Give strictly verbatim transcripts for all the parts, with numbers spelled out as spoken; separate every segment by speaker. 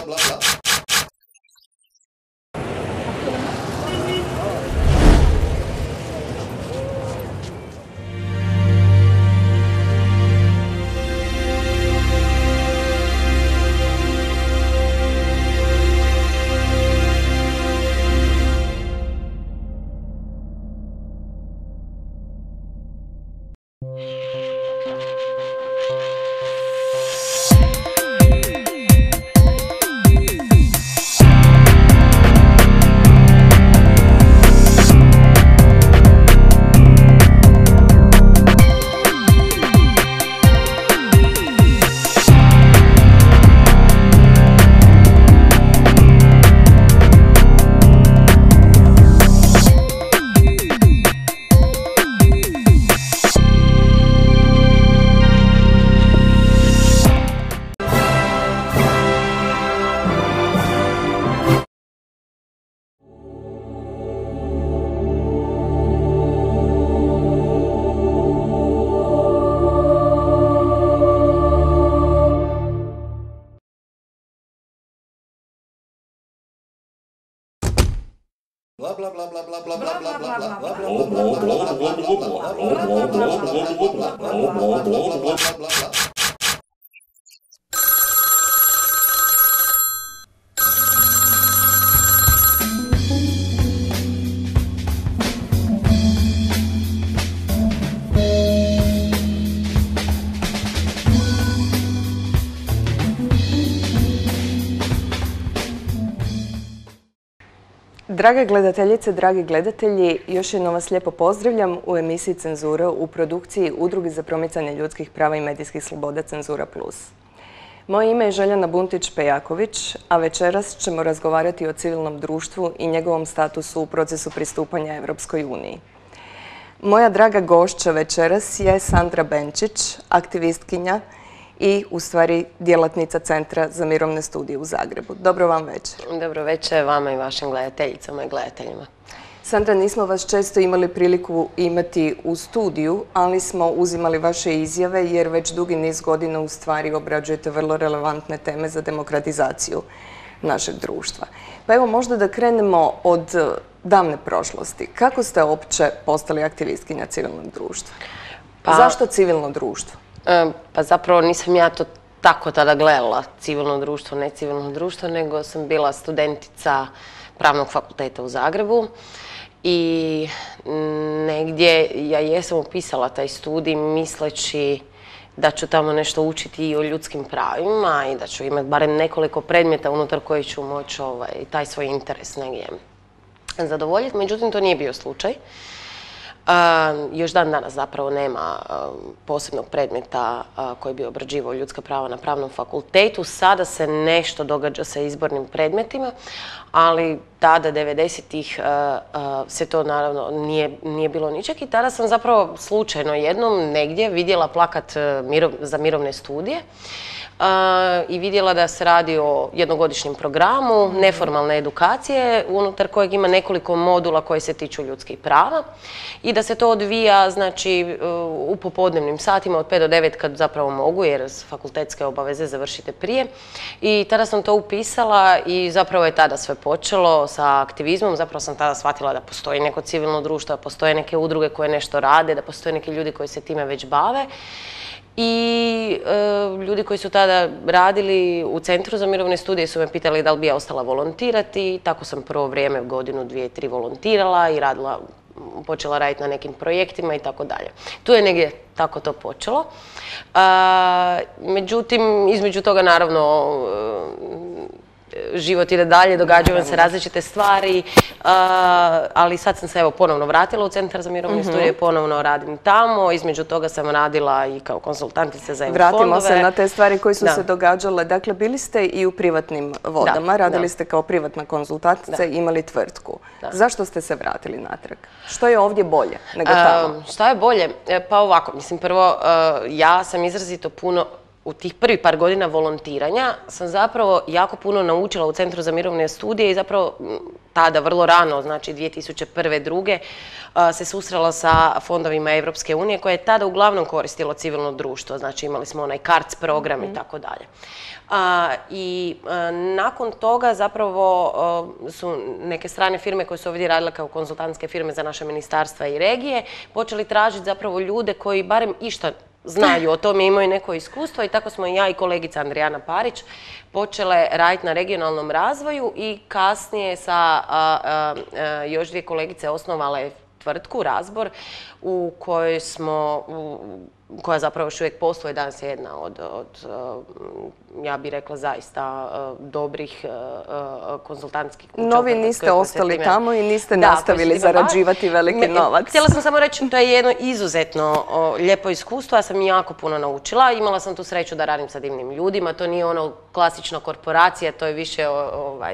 Speaker 1: bla, bla. Bla bla bla bla bla bla bla bla bla bla bla bla bla.
Speaker 2: Drage gledateljice, dragi gledatelji, još jednom vas lijepo pozdravljam u emisiji Cenzura u produkciji Udruge za promicanje ljudskih prava i medijskih sloboda Cenzura plus. Moje ime je Željana Buntić-Pejaković, a večeras ćemo razgovarati o civilnom društvu i njegovom statusu u procesu pristupanja Europskoj uniji. Moja draga gošća večeras je Sandra Benčić, aktivistkinja i u stvari djelatnica Centra za mirovne studije u Zagrebu. Dobro vam večer.
Speaker 3: Dobro večer vama i vašim gledateljicama i gledateljima.
Speaker 2: Sandra, nismo vas često imali priliku imati u studiju, ali smo uzimali vaše izjave jer već dugi niz godina u stvari obrađujete vrlo relevantne teme za demokratizaciju našeg društva. Pa evo možda da krenemo od davne prošlosti. Kako ste uopće postali aktivistkinja civilnog društva?
Speaker 3: Pa,
Speaker 2: Zašto civilno društvo?
Speaker 3: Pa zapravo nisam ja to tako tada gledala, civilno društvo, ne civilno društvo, nego sam bila studentica Pravnog fakulteta u Zagrebu i negdje ja jesam upisala taj studij misleći da ću tamo nešto učiti i o ljudskim pravima i da ću imati barem nekoliko predmeta unutar koji ću moći ovaj, taj svoj interes negdje zadovoljiti. Međutim, to nije bio slučaj. Uh, još dan danas zapravo nema uh, posebnog predmeta uh, koji bi obrađivao ljudska prava na Pravnom fakultetu. Sada se nešto događa sa izbornim predmetima, ali tada, devedesetih, uh, uh, se to naravno nije, nije bilo ničeg i tada sam zapravo slučajno jednom negdje vidjela plakat uh, mirov, za mirovne studije. Uh, i vidjela da se radi o jednogodišnjem programu neformalne edukacije unutar kojeg ima nekoliko modula koji se tiču ljudskih prava i da se to odvija znači, u popodnevnim satima od pet do devet kad zapravo mogu jer fakultetske obaveze završite prije. I tada sam to upisala i zapravo je tada sve počelo sa aktivizmom. Zapravo sam tada shvatila da postoji neko civilno društvo, da postoje neke udruge koje nešto rade, da postoje neki ljudi koji se time već bave. I e, ljudi koji su tada radili u Centru za mirovne studije su me pitali da li bi ja ostala volontirati. Tako sam prvo vrijeme, godinu, dvije, tri volontirala i radila, počela raditi na nekim projektima i tako dalje. Tu je negdje tako to počelo. E, međutim, između toga naravno život ide dalje, događaju se različite stvari, ali sad sam se evo ponovno vratila u Centar za mirovne studije, ponovno radim tamo, između toga sam radila i kao konsultantica za E U fondove.
Speaker 2: Vratimo se na te stvari koje su se događale. Dakle, bili ste i u privatnim vodama, radili ste kao privatna konzultantica i imali tvrtku. Zašto ste se vratili natrag? Što je ovdje bolje nego tamo?
Speaker 3: Što je bolje? Pa ovako, mislim, prvo, ja sam izrazito puno u tih prvih par godina volontiranja sam zapravo jako puno naučila u Centru za mirovne studije i zapravo tada vrlo rano, znači dvije tisuće prve. druge se susrela sa fondovima Evropske unije koje je tada uglavnom koristilo civilno društvo, znači imali smo onaj CARDS program i tako dalje. I nakon toga zapravo su neke strane firme koje su ovdje radile kao konzultantske firme za naše ministarstva i regije počeli tražiti zapravo ljude koji barem išta znaju o tome, imaju neko iskustvo i tako smo i ja i kolegica Andrijana Parić počele raditi na regionalnom razvoju i kasnije sa a, a, a, još dvije kolegice osnovale tvrtku Razbor u kojoj smo, u, koja zapravo još uvijek posluje, danas je jedna od, od ja bih rekla, zaista dobrih konzultantskih kuća.
Speaker 2: No, vi niste ostali tamo i niste nastavili zarađivati veliki novac.
Speaker 3: Htjela sam samo reći, to je jedno izuzetno lijepo iskustvo, ja sam jako puno naučila. Imala sam tu sreću da radim sa divnim ljudima, to nije ono klasična korporacija, to je više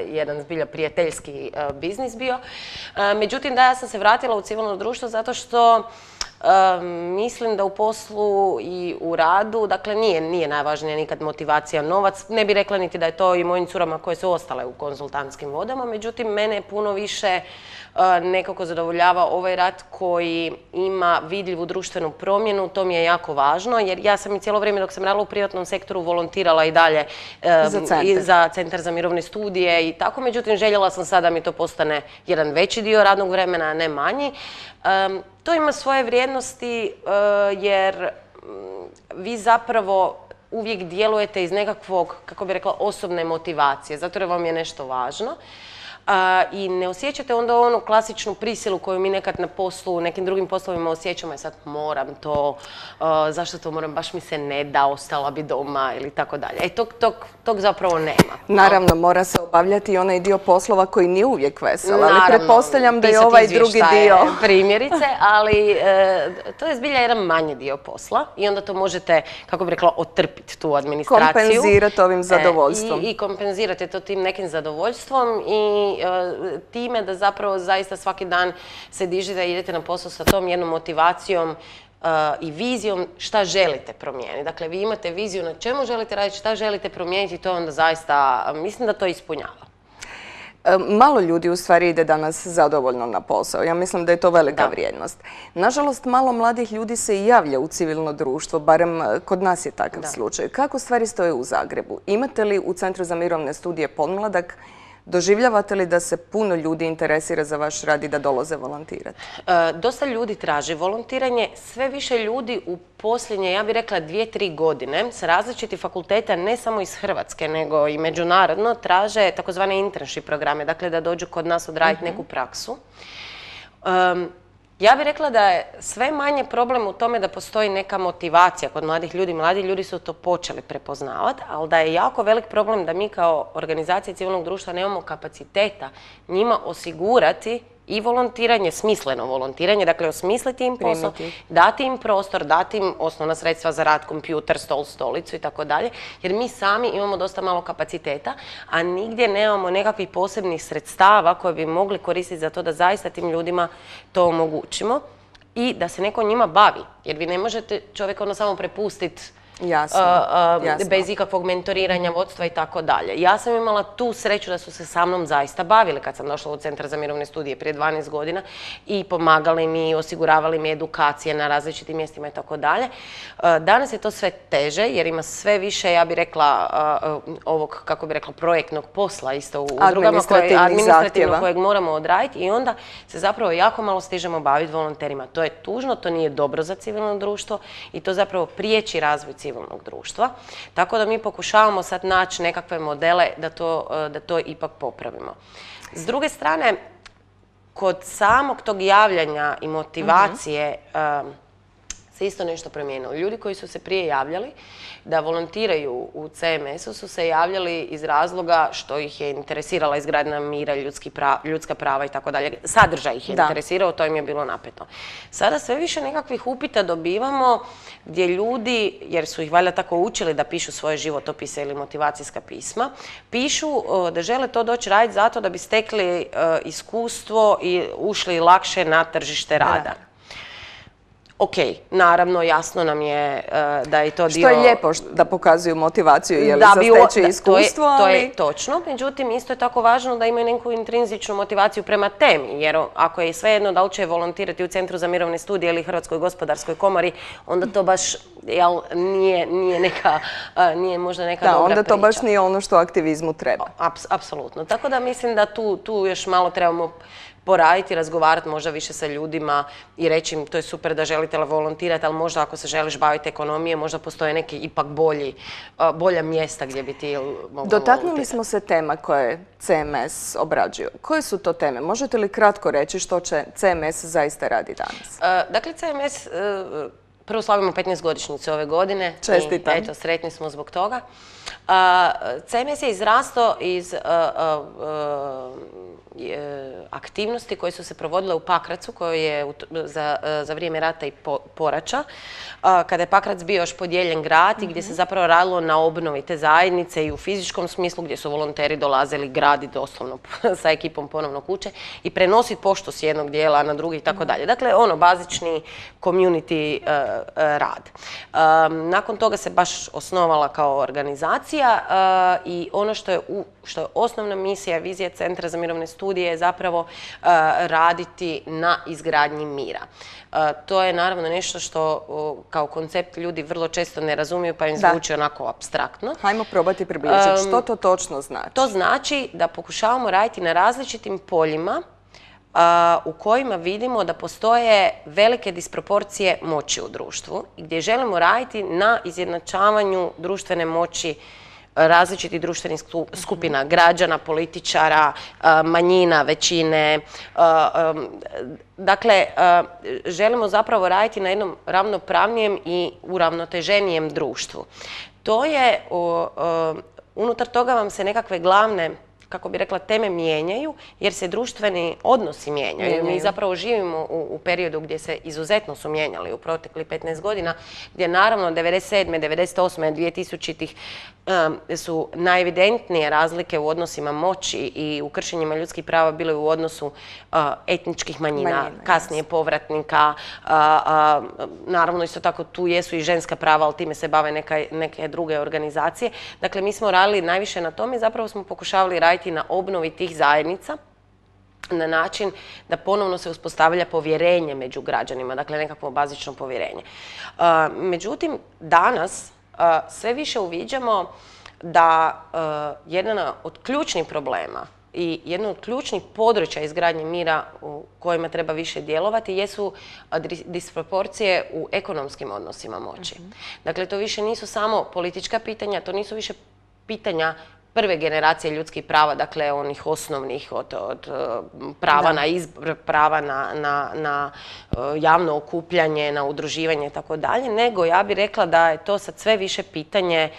Speaker 3: jedan zbilja prijateljski biznis bio. Međutim, da, ja sam se vratila u civilno društvo zato što mislim da u poslu i u radu, dakle nije, nije najvažnija nikad motivacija novac. Ne bih rekla niti da je to i mojim curama koje su ostale u konzultantskim vodama, međutim mene puno više nekako zadovoljava ovaj rad koji ima vidljivu društvenu promjenu, to mi je jako važno jer ja sam i cijelo vrijeme dok sam radila u privatnom sektoru volontirala i dalje
Speaker 2: za centar,
Speaker 3: i za Centar za mirovne studije i tako, međutim željela sam sada da mi to postane jedan veći dio radnog vremena, a ne manji. To ima svoje vrijednosti jer vi zapravo uvijek djelujete iz nekakvog, kako bi rekla, osobne motivacije, zato jer vam je nešto važno. I ne osjećate onda onu klasičnu prisilu koju mi nekad na poslu, u nekim drugim poslovima osjećamo, i sad moram to, zašto to moram, baš mi se ne da, ostala bi doma ili tako dalje. E, tog, tog, tog zapravo nema.
Speaker 2: Naravno, mora se obavljati i onaj dio poslova koji nije uvijek vesel, ali pretpostavljam da je ovaj drugi dio.
Speaker 3: Primjerice, ali to je zbilja jedan manji dio posla i onda to možete, kako bi rekla, otrpiti tu administraciju.
Speaker 2: Kompenzirati ovim zadovoljstvom.
Speaker 3: I, i kompenzirate to tim nekim zadovoljstvom i time da zapravo zaista svaki dan se dižete da idete na posao sa tom jednom motivacijom i vizijom šta želite promijeniti. Dakle, vi imate viziju na čemu želite raditi, šta želite promijeniti i to onda zaista, mislim da to ispunjava.
Speaker 2: Malo ljudi u stvari ide danas zadovoljno na posao. Ja mislim da je to velika vrijednost. Nažalost, malo mladih ljudi se i javlja u civilno društvo, barem kod nas je takav slučaj. Kako stvari stoje u Zagrebu? Imate li u Centru za mirovne studije Podmladak, doživljavate li da se puno ljudi interesira za vaš rad i da dolaze volontirati?
Speaker 3: E, dosta ljudi traži volontiranje. Sve više ljudi u posljednje, ja bih rekla, dvije, tri godine sa različitih fakulteta, ne samo iz Hrvatske, nego i međunarodno, traže takozvane internship programe, dakle da dođu kod nas odraditi neku praksu. Um, Ja bih rekla da je sve manje problem u tome da postoji neka motivacija kod mladih ljudi. Mladi ljudi su to počeli prepoznavati, ali da je jako velik problem da mi kao organizacija civilnog društva nemamo kapaciteta njima osigurati i volontiranje, smisleno volontiranje, dakle osmisliti im posao, dati im prostor, dati im osnovna sredstva za rad, kompjuter, stol, stolicu i tako dalje, jer mi sami imamo dosta malo kapaciteta, a nigdje nemamo nekakvih posebnih sredstava koje bi mogli koristiti za to da zaista tim ljudima to omogućimo i da se neko njima bavi, jer vi ne možete čovjeka ono samo prepustiti
Speaker 2: Jasno,
Speaker 3: uh, uh,
Speaker 2: jasno.
Speaker 3: bez ikakvog mentoriranja, vodstva i tako dalje. Ja sam imala tu sreću da su se sa mnom zaista bavili kad sam došla u Centar za mirovne studije prije dvanaest godina i pomagali mi, osiguravali mi edukacije na različitim mjestima i tako dalje. Danas je to sve teže jer ima sve više, ja bih rekla, uh, ovog, kako bih rekla, projektnog posla isto u udrugama, koje, administrativno kojeg moramo odraditi i onda se zapravo jako malo stižemo baviti volonterima. To je tužno, to nije dobro za civilno društvo i to zapravo priječi razvoj civilnog društva. Tako da mi pokušavamo sad naći nekakve modele da to, da to ipak popravimo. S druge strane, kod samog tog javljanja i motivacije uh-huh. um, se isto nešto promijenilo. Ljudi koji su se prije javljali da volontiraju u C M S-u su se javljali iz razloga što ih je interesirala izgradnja mira, ljudski pra, ljudska prava i tako dalje. Sadržaj ih je da. interesirao, to im je bilo napeto. Sada sve više nekakvih upita dobivamo gdje ljudi, jer su ih valjda tako učili da pišu svoje životopise ili motivacijska pisma, pišu uh, da žele to doći raditi zato da bi stekli uh, iskustvo i ušli lakše na tržište rada. Da. Ok, naravno, jasno nam je uh, da je to dio...
Speaker 2: Što je lijepo da pokazuju motivaciju, je li
Speaker 3: Da
Speaker 2: za
Speaker 3: bi u-
Speaker 2: steći
Speaker 3: da,
Speaker 2: iskustvo,
Speaker 3: to je, to
Speaker 2: ali...
Speaker 3: je točno, međutim, isto je tako važno da imaju neku intrinzičnu motivaciju prema temi, jer ako je svejedno da li će volontirati u Centru za mirovne studije ili Hrvatskoj gospodarskoj komori, onda to baš jel, nije, nije, neka, uh, nije možda neka
Speaker 2: Da,
Speaker 3: dobra
Speaker 2: onda to
Speaker 3: priča.
Speaker 2: baš nije ono što aktivizmu treba.
Speaker 3: Aps- apsolutno. Tako da mislim da tu, tu još malo trebamo poraditi, razgovarati možda više sa ljudima i reći im to je super da želite volontirati, ali možda ako se želiš baviti ekonomije, možda postoje neki ipak bolji, uh, bolja mjesta gdje bi ti mogla
Speaker 2: Dotaknuli
Speaker 3: volontirati.
Speaker 2: smo se tema koje C M S obrađuju. Koje su to teme? Možete li kratko reći što će C M S zaista radi danas?
Speaker 3: Uh, dakle, C M S, uh, prvo slavimo petnaestogodišnjicu ove godine.
Speaker 2: Čestitam.
Speaker 3: I, eto, sretni smo zbog toga. Uh, C M S je izrastao iz uh, uh, uh, je, aktivnosti koje su se provodile u Pakracu, koje je u t- za, uh, za vrijeme rata i po, poraća, uh, kada je Pakrac bio još podijeljen grad i gdje se zapravo radilo na obnovi te zajednice i u fizičkom smislu, gdje su volonteri dolazili graditi doslovno sa ekipom ponovno kuće i prenositi poštu s jednog dijela na drugi i tako dalje. Dakle, ono, bazični community uh, uh, rad. Um, nakon toga se baš osnovala kao organizacija uh, i ono što je, u, što je osnovna misija, vizija Centra za mirovne studije je zapravo uh, raditi na izgradnji mira. Uh, to je naravno nešto što uh, kao koncept ljudi vrlo često ne razumiju pa im
Speaker 2: Da.
Speaker 3: zvuči onako apstraktno.
Speaker 2: Hajmo probati približiti. Što to točno znači?
Speaker 3: To znači da pokušavamo raditi na različitim poljima a, u kojima vidimo da postoje velike disproporcije moći u društvu i gdje želimo raditi na izjednačavanju društvene moći različitih društvenih sku- skupina, građana, političara, a, manjina, većine. a, um, Dakle, a, želimo zapravo raditi na jednom ravnopravnijem i uravnoteženijem društvu. To je, o, o, unutar toga vam se nekakve glavne, kako bi rekla, teme mijenjaju, jer se društveni odnosi mijenjaju. Mi
Speaker 2: Mijenjaju.
Speaker 3: zapravo živimo u, u periodu gdje se izuzetno su mijenjali u proteklih petnaest godina, gdje naravno devedeset sedme, devedeset osme, dvije tisućitih um, su najevidentnije razlike u odnosima moći i u kršenjima ljudskih prava bile u odnosu uh, etničkih manjina,
Speaker 2: Manjina,
Speaker 3: kasnije povratnika, a, a, naravno isto tako tu jesu i ženska prava, ali time se bave neka, neke druge organizacije. Dakle, mi smo radili najviše na tome i zapravo smo pokušavali raditi na obnovi tih zajednica na način da ponovno se uspostavlja povjerenje među građanima, dakle nekakvo bazično povjerenje. A, međutim, danas a, sve više uviđamo da a, jedan od ključnih problema i jedno od ključnih područja izgradnje mira u kojima treba više djelovati jesu a, dis- disproporcije u ekonomskim odnosima moći. Dakle, to više nisu samo politička pitanja, to nisu više pitanja prve generacije ljudskih prava, dakle onih osnovnih od, od uh, prava
Speaker 2: Da.
Speaker 3: na izbor, prava na, na, na uh, javno okupljanje, na udruživanje i tako dalje, nego ja bih rekla da je to sad sve više pitanje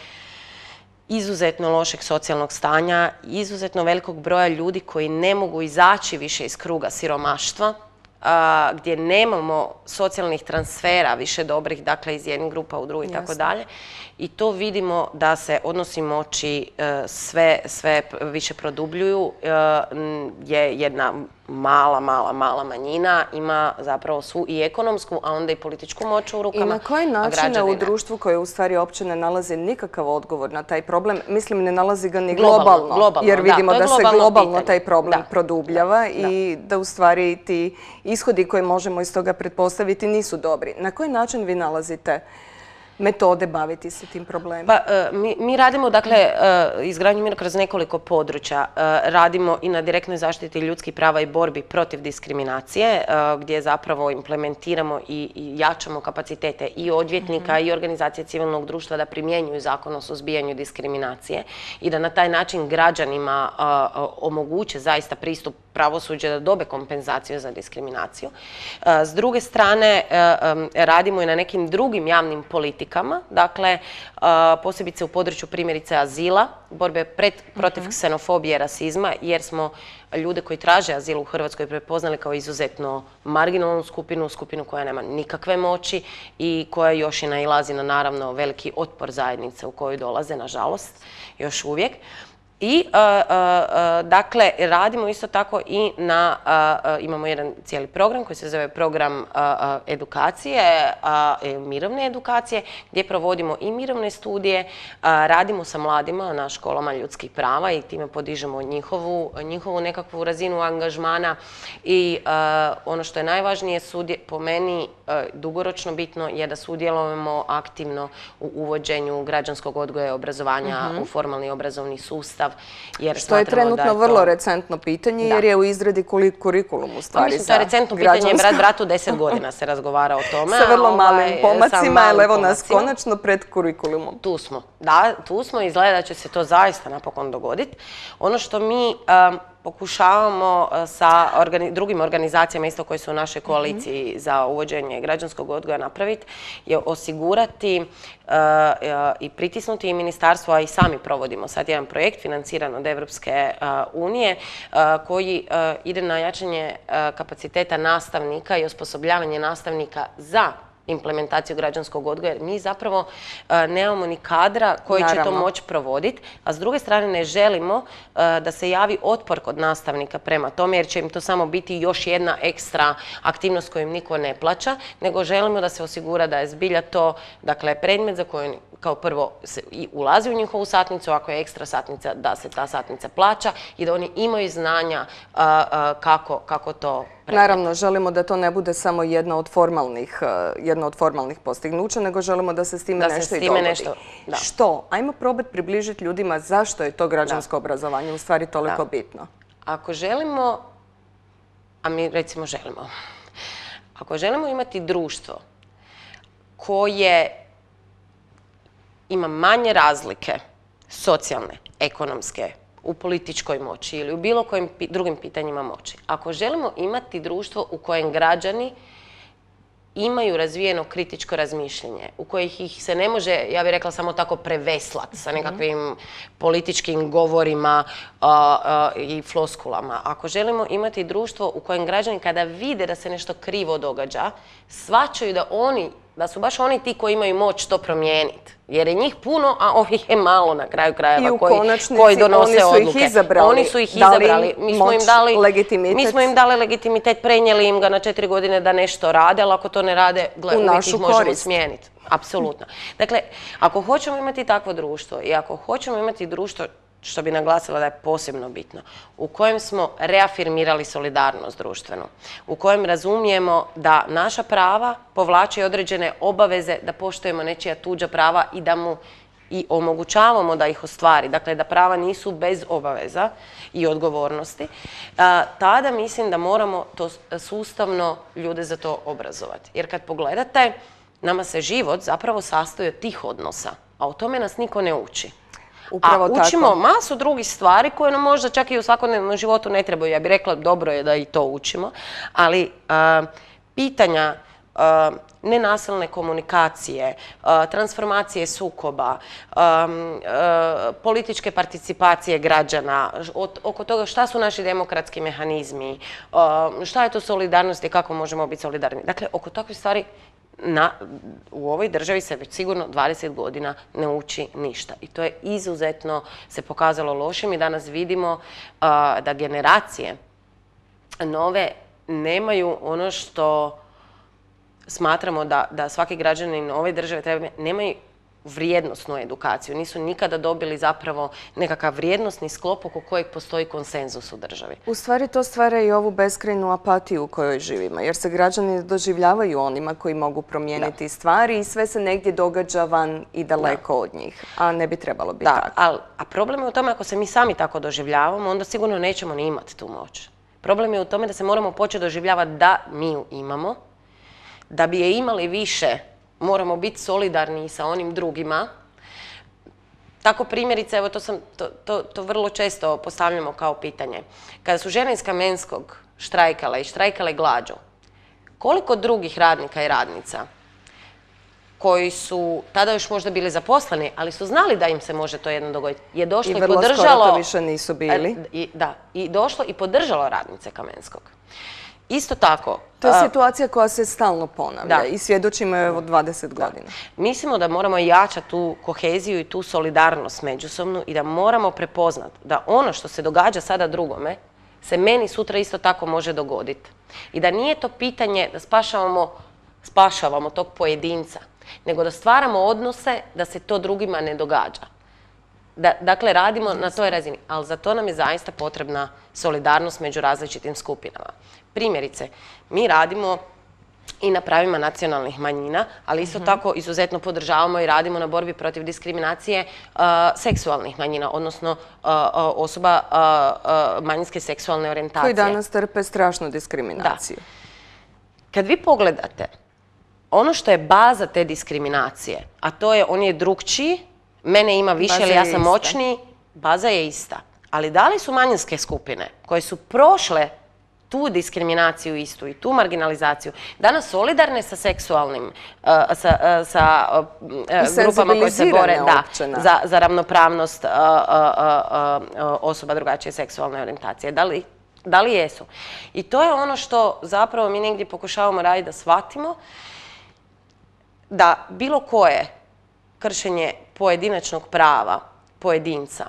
Speaker 3: izuzetno lošeg socijalnog stanja, izuzetno velikog broja ljudi koji ne mogu izaći više iz kruga siromaštva, a, gdje nemamo socijalnih transfera više dobrih, dakle iz jednih grupa u drugi i tako
Speaker 2: Jasno.
Speaker 3: dalje. I to vidimo da se odnosi moći e, sve, sve p- više produbljuju, e, n- je jedna mala, mala, mala manjina ima zapravo svu i ekonomsku, a onda i političku moć u
Speaker 2: I
Speaker 3: rukama.
Speaker 2: na koji
Speaker 3: a
Speaker 2: način
Speaker 3: građani
Speaker 2: u
Speaker 3: ne.
Speaker 2: društvu koje u stvari uopće ne nalazi nikakav odgovor na taj problem, mislim ne nalazi ga ni
Speaker 3: Globalno,
Speaker 2: globalno,
Speaker 3: globalno,
Speaker 2: jer
Speaker 3: da,
Speaker 2: vidimo
Speaker 3: to je
Speaker 2: da se
Speaker 3: globalno
Speaker 2: globalno
Speaker 3: pitanje.
Speaker 2: taj problem
Speaker 3: Da.
Speaker 2: produbljava i da u stvari ti ishodi koje možemo iz toga pretpostaviti nisu dobri. Na koji način vi nalazite metode baviti se tim problemom?
Speaker 3: Pa, e, mi, mi radimo, dakle, e, izgradnju mira kroz nekoliko područja. E, radimo i na direktnoj zaštiti ljudskih prava i borbi protiv diskriminacije, e, gdje zapravo implementiramo i, i jačamo kapacitete i odvjetnika i organizacije civilnog društva da primjenjuju zakon o suzbijanju diskriminacije i da na taj način građanima a, a, omoguće zaista pristup pravosuđa da dobe kompenzaciju za diskriminaciju. E, S druge strane, e, em, radimo i na nekim drugim javnim politikama, dakle, e, posebice u području primjerice azila, borbe pred, protiv ksenofobije i rasizma, jer smo ljude koji traže azil u Hrvatskoj prepoznali kao izuzetno marginalnu skupinu, skupinu koja nema nikakve moći i koja još i nailazi na naravno veliki otpor zajednice u koju dolaze, nažalost, još uvijek. I, uh, uh, dakle, radimo isto tako i na, uh, uh, imamo jedan cijeli program koji se zove program uh, uh, edukacije, uh, mirovne edukacije, gdje provodimo i mirovne studije, uh, radimo sa mladima na školama ljudskih prava i time podižemo njihovu, njihovu nekakvu razinu angažmana i uh, ono što je najvažnije sudje, po meni uh, dugoročno bitno je da sudjelujemo aktivno u uvođenju građanskog odgoja i obrazovanja mm-hmm. u formalni obrazovni sustav. Jer
Speaker 2: što je trenutno
Speaker 3: je
Speaker 2: vrlo
Speaker 3: to...
Speaker 2: recentno pitanje, da. Jer je u izradi kurikulum u stvari.
Speaker 3: Pa mislim, to je recentno pitanje, brat bratu deset godina se razgovara o tome.
Speaker 2: Sa vrlo malim
Speaker 3: ovaj,
Speaker 2: pomacima, ali evo nas
Speaker 3: pomacima.
Speaker 2: konačno pred kurikulumom.
Speaker 3: Tu smo, da, tu smo, izgleda da će se to zaista napokon dogoditi. Ono što mi um, pokušavamo sa organi drugim organizacijama isto koji su u našoj koaliciji mm-hmm. za uvođenje građanskog odgoja napraviti je osigurati uh, uh, i pritisnuti i ministarstvo, a i sami provodimo sad jedan projekt financiran od Evropske uh, unije uh, koji uh, ide na jačanje uh, kapaciteta nastavnika i osposobljavanje nastavnika za implementaciju građanskog odgoja, jer mi zapravo uh, nemamo ni kadra koji Naravno. će to moći provoditi, a s druge strane ne želimo uh, da se javi otpor kod nastavnika prema tome, jer će im to samo biti još jedna ekstra aktivnost koju im niko ne plaća, nego želimo da se osigura da je zbilja to, dakle, predmet za koju kao prvo se i ulazi u njihovu satnicu, ako je ekstra satnica, da se ta satnica plaća i da oni imaju znanja uh, uh, kako, kako to predmet.
Speaker 2: Naravno, želimo da to ne bude samo jedna od formalnih, jedno od formalnih postignuća, nego želimo da se s time
Speaker 3: da
Speaker 2: nešto
Speaker 3: se
Speaker 2: i
Speaker 3: time
Speaker 2: dogodi.
Speaker 3: Nešto, da.
Speaker 2: Što? Ajmo probati približiti ljudima zašto je to građansko da. obrazovanje u stvari toliko da. bitno.
Speaker 3: Ako želimo, a mi recimo želimo, ako želimo imati društvo koje ima manje razlike socijalne, ekonomske, u političkoj moći ili u bilo kojim pi drugim pitanjima moći. Ako želimo imati društvo u kojem građani imaju razvijeno kritičko razmišljanje, u kojih ih se ne može, ja bih rekla, samo tako preveslati sa nekakvim političkim govorima uh, uh, i floskulama. Ako želimo imati društvo u kojem građani kada vide da se nešto krivo događa, shvaćaju da oni, da su baš oni ti koji imaju moć to promijeniti. Jer je njih puno, a ovih je malo na kraju krajeva koji, koji donose odluke.
Speaker 2: Oni su ih izabrali.
Speaker 3: Oni su ih izabrali. Mi smo im dali legitimitet. Mi smo im dali legitimitet, prenijeli im ga na četiri godine da nešto rade, ali ako to ne rade, gle, uvijek ih možemo smijeniti. Apsolutno. Dakle, ako hoćemo imati takvo društvo i ako hoćemo imati društvo, što bi naglasila da je posebno bitno, u kojem smo reafirmirali solidarnost društvenu, u kojem razumijemo da naša prava povlače određene obaveze, da poštujemo nečija tuđa prava i da mu i omogućavamo da ih ostvari, dakle da prava nisu bez obaveza i odgovornosti, tada mislim da moramo to sustavno ljude za to obrazovati. Jer kad pogledate, nama se život zapravo sastoji od tih odnosa, a o tome nas niko ne uči.
Speaker 2: Upravo
Speaker 3: a učimo
Speaker 2: tako.
Speaker 3: masu drugih stvari koje nam možda čak i u svakodnevnom životu ne trebaju. Ja bih rekla, dobro je da i to učimo, ali uh, pitanja uh, nenasilne komunikacije, uh, transformacije sukoba, um, uh, političke participacije građana, od, oko toga šta su naši demokratski mehanizmi, uh, šta je to solidarnost i kako možemo biti solidarni. Dakle, oko takvih stvari Na, u ovoj državi se već sigurno dvadeset godina ne uči ništa. I to je izuzetno se pokazalo lošim i danas vidimo uh, da generacije nove nemaju ono što smatramo da, da svaki građanin ove države treba, nemaju vrijednosnu edukaciju. Nisu nikada dobili zapravo nekakav vrijednosni sklop oko kojeg postoji konsenzus u državi.
Speaker 2: U stvari to stvara i ovu beskrajnu apatiju u kojoj živimo, jer se građani doživljavaju onima koji mogu promijeniti da. stvari i sve se negdje događa van i daleko da. od njih, a ne bi trebalo biti
Speaker 3: da,
Speaker 2: tako.
Speaker 3: Al, a problem je u tome ako se mi sami tako doživljavamo, onda sigurno nećemo ni imati tu moć. Problem je u tome da se moramo početi doživljavati da mi ju imamo, da bi je imali više, moramo biti solidarni sa onim drugima. Tako primjerice, evo to, sam, to, to, to vrlo često postavljamo kao pitanje. Kada su žene iz Kamenskog štrajkale i štrajkale glađu, koliko drugih radnika i radnica koji su tada još možda bili zaposleni, ali su znali da im se može to jedno dogoditi, je došlo i,
Speaker 2: i
Speaker 3: podržalo...
Speaker 2: I vrlo skoro to više nisu bili.
Speaker 3: I, da, i došlo i podržalo radnice Kamenskog. Isto tako...
Speaker 2: To je
Speaker 3: a,
Speaker 2: situacija koja se stalno ponavlja
Speaker 3: Da.
Speaker 2: i svjedočimo je evo dvadeset godina.
Speaker 3: Mislimo da moramo jačati tu koheziju i tu solidarnost međusobnu i da moramo prepoznati da ono što se događa sada drugome se meni sutra isto tako može dogoditi. I da nije to pitanje da spašavamo, spašavamo tog pojedinca, nego da stvaramo odnose da se to drugima ne događa. Da, dakle, radimo na toj razini, ali za to nam je zaista potrebna solidarnost među različitim skupinama. Primjerice, mi radimo i na pravima nacionalnih manjina, ali isto tako izuzetno podržavamo i radimo na borbi protiv diskriminacije uh, seksualnih manjina, odnosno uh, uh, osoba uh, uh, manjinske seksualne orijentacije.
Speaker 2: Koji danas trpe strašnu diskriminaciju.
Speaker 3: Kad vi pogledate, ono što je baza te diskriminacije, a to je on je drukčiji, mene ima više
Speaker 2: Baza
Speaker 3: ili ja
Speaker 2: je
Speaker 3: sam
Speaker 2: ista.
Speaker 3: moćniji, baza je ista. Ali da li su manjinske skupine koje su prošle tu diskriminaciju istu i tu marginalizaciju, danas solidarne sa seksualnim, uh, sa, uh, sa uh, grupama koje se bore da, za, za ravnopravnost uh, uh, uh, uh, osoba drugačije seksualne orijentacije. Da li, da li jesu? I to je ono što zapravo mi negdje pokušavamo raditi da shvatimo da bilo koje kršenje pojedinačnog prava pojedinca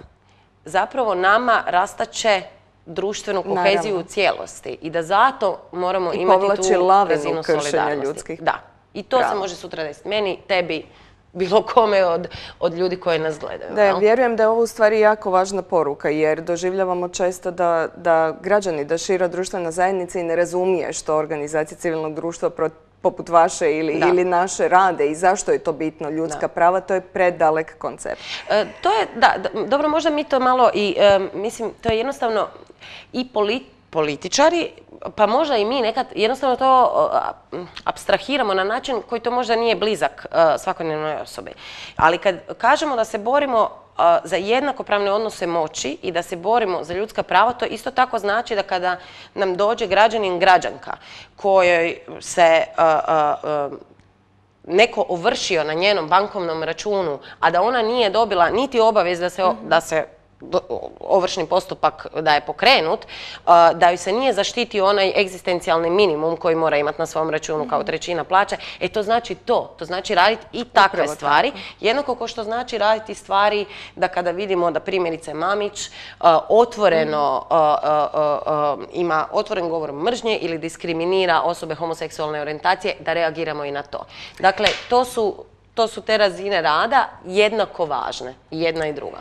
Speaker 3: zapravo nama rastače društvenu koheziju
Speaker 2: Naravno.
Speaker 3: u cijelosti i da zato moramo
Speaker 2: I
Speaker 3: imati
Speaker 2: povlači
Speaker 3: tu
Speaker 2: lavinu
Speaker 3: razinu
Speaker 2: kršenja
Speaker 3: solidarnosti.
Speaker 2: ljudskih
Speaker 3: Da. I to
Speaker 2: prava.
Speaker 3: se može sutra desiti meni, tebi, bilo kome od, od ljudi koji nas gledaju.
Speaker 2: Da,
Speaker 3: jel?
Speaker 2: vjerujem da je ovo u stvari jako važna poruka, jer doživljavamo često da, da građani, da šira društvena zajednica i ne razumije što organizacije civilnog društva pro- poput vaše ili,
Speaker 3: Da.
Speaker 2: ili naše rade i zašto je to bitno, ljudska
Speaker 3: Da.
Speaker 2: prava, to je predalek koncept.
Speaker 3: E, to je, da, da, dobro, možda mi to malo i, e, mislim, to je jednostavno i polit, političari, pa možda i mi nekad jednostavno to uh, apstrahiramo na način koji to možda nije blizak uh, svakodnevnoj osobi. Ali kad kažemo da se borimo uh, za jednakopravne odnose moći i da se borimo za ljudska prava, to isto tako znači da kada nam dođe građanin, građanka kojoj se uh, uh, uh, neko ovršio na njenom bankovnom računu, a da ona nije dobila niti obavijest da se, da se ovršni postupak da je pokrenut, da joj se nije zaštitio onaj egzistencijalni minimum koji mora imati na svom računu kao trećina plaće, e to znači to. To znači raditi i takve
Speaker 2: Upravo
Speaker 3: stvari.
Speaker 2: tako.
Speaker 3: Jednako kao što znači raditi stvari da kada vidimo da primjerice Mamić otvoreno ima otvoren govor mržnje ili diskriminira osobe homoseksualne orijentacije, da reagiramo i na to. Dakle, to su, to su te razine rada jednako važne, jedna i druga.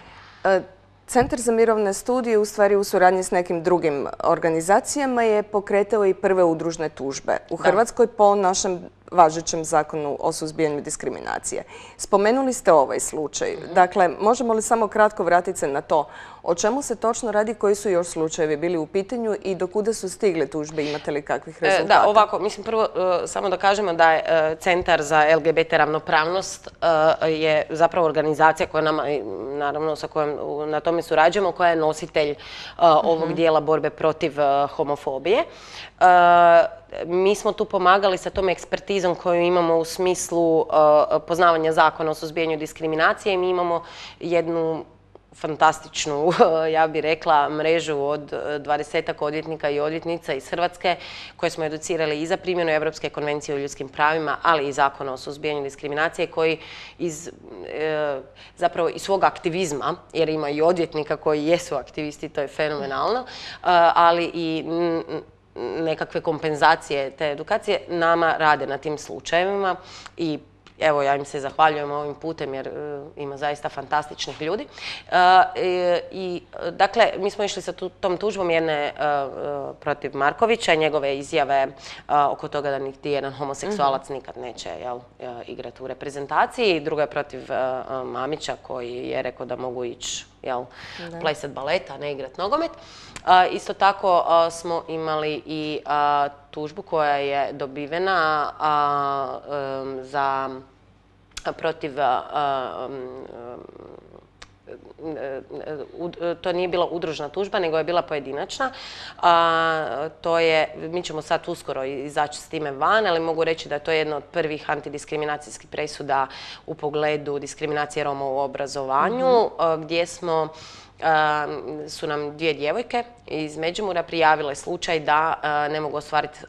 Speaker 2: Centar za mirovne studije u stvari u suradnji s nekim drugim organizacijama je pokretao i prve udružne tužbe u Hrvatskoj po našem važećem zakonu o suzbijanju diskriminacije. Spomenuli ste ovaj slučaj. Dakle, možemo li samo kratko vratiti se na to o čemu se točno radi, koji su još slučajevi bili u pitanju i do kuda su stigle tužbe, imate li kakvih rezultata?
Speaker 3: Da, ovako, mislim prvo samo da kažemo da je Centar za L G B T ravnopravnost je zapravo organizacija koja nama, naravno sa kojom na tome surađujemo, koja je nositelj ovog dijela borbe protiv homofobije. Mi smo tu pomagali sa tom ekspertizom koju imamo u smislu poznavanja zakona o suzbijanju diskriminacije i mi imamo jednu fantastičnu, ja bih rekla, mrežu od dvadesetak odvjetnika i odvjetnica iz Hrvatske koje smo educirali i za primjenu Europske konvencije o ljudskim pravima, ali i zakona o suzbijanju diskriminacije koji iz, e, zapravo iz svog aktivizma, jer ima i odvjetnika koji jesu aktivisti, to je fenomenalno, ali i nekakve kompenzacije te edukacije nama rade na tim slučajevima i evo, ja im se zahvaljujem ovim putem jer uh, ima zaista fantastičnih ljudi. Uh, i, i, dakle, mi smo išli sa tu, tom tužbom jedne uh, protiv Markovića i njegove izjave uh, oko toga da niti jedan homoseksualac mm-hmm. nikad neće jel, uh, igrati u reprezentaciji. Druga je protiv uh, Mamića koji je rekao da mogu ići jel, plesat baleta, a ne igrat nogomet. Uh, isto tako uh, smo imali i uh, tužbu koja je dobivena uh, um, za protiv uh, um, to nije bila udružna tužba, nego je bila pojedinačna. A, to je, mi ćemo sad uskoro izaći s time van, ali mogu reći da je to jedna od prvih antidiskriminacijskih presuda u pogledu diskriminacije Roma u obrazovanju, mm-hmm. gdje smo su nam dvije djevojke iz Međimurja prijavile slučaj da ne mogu ostvariti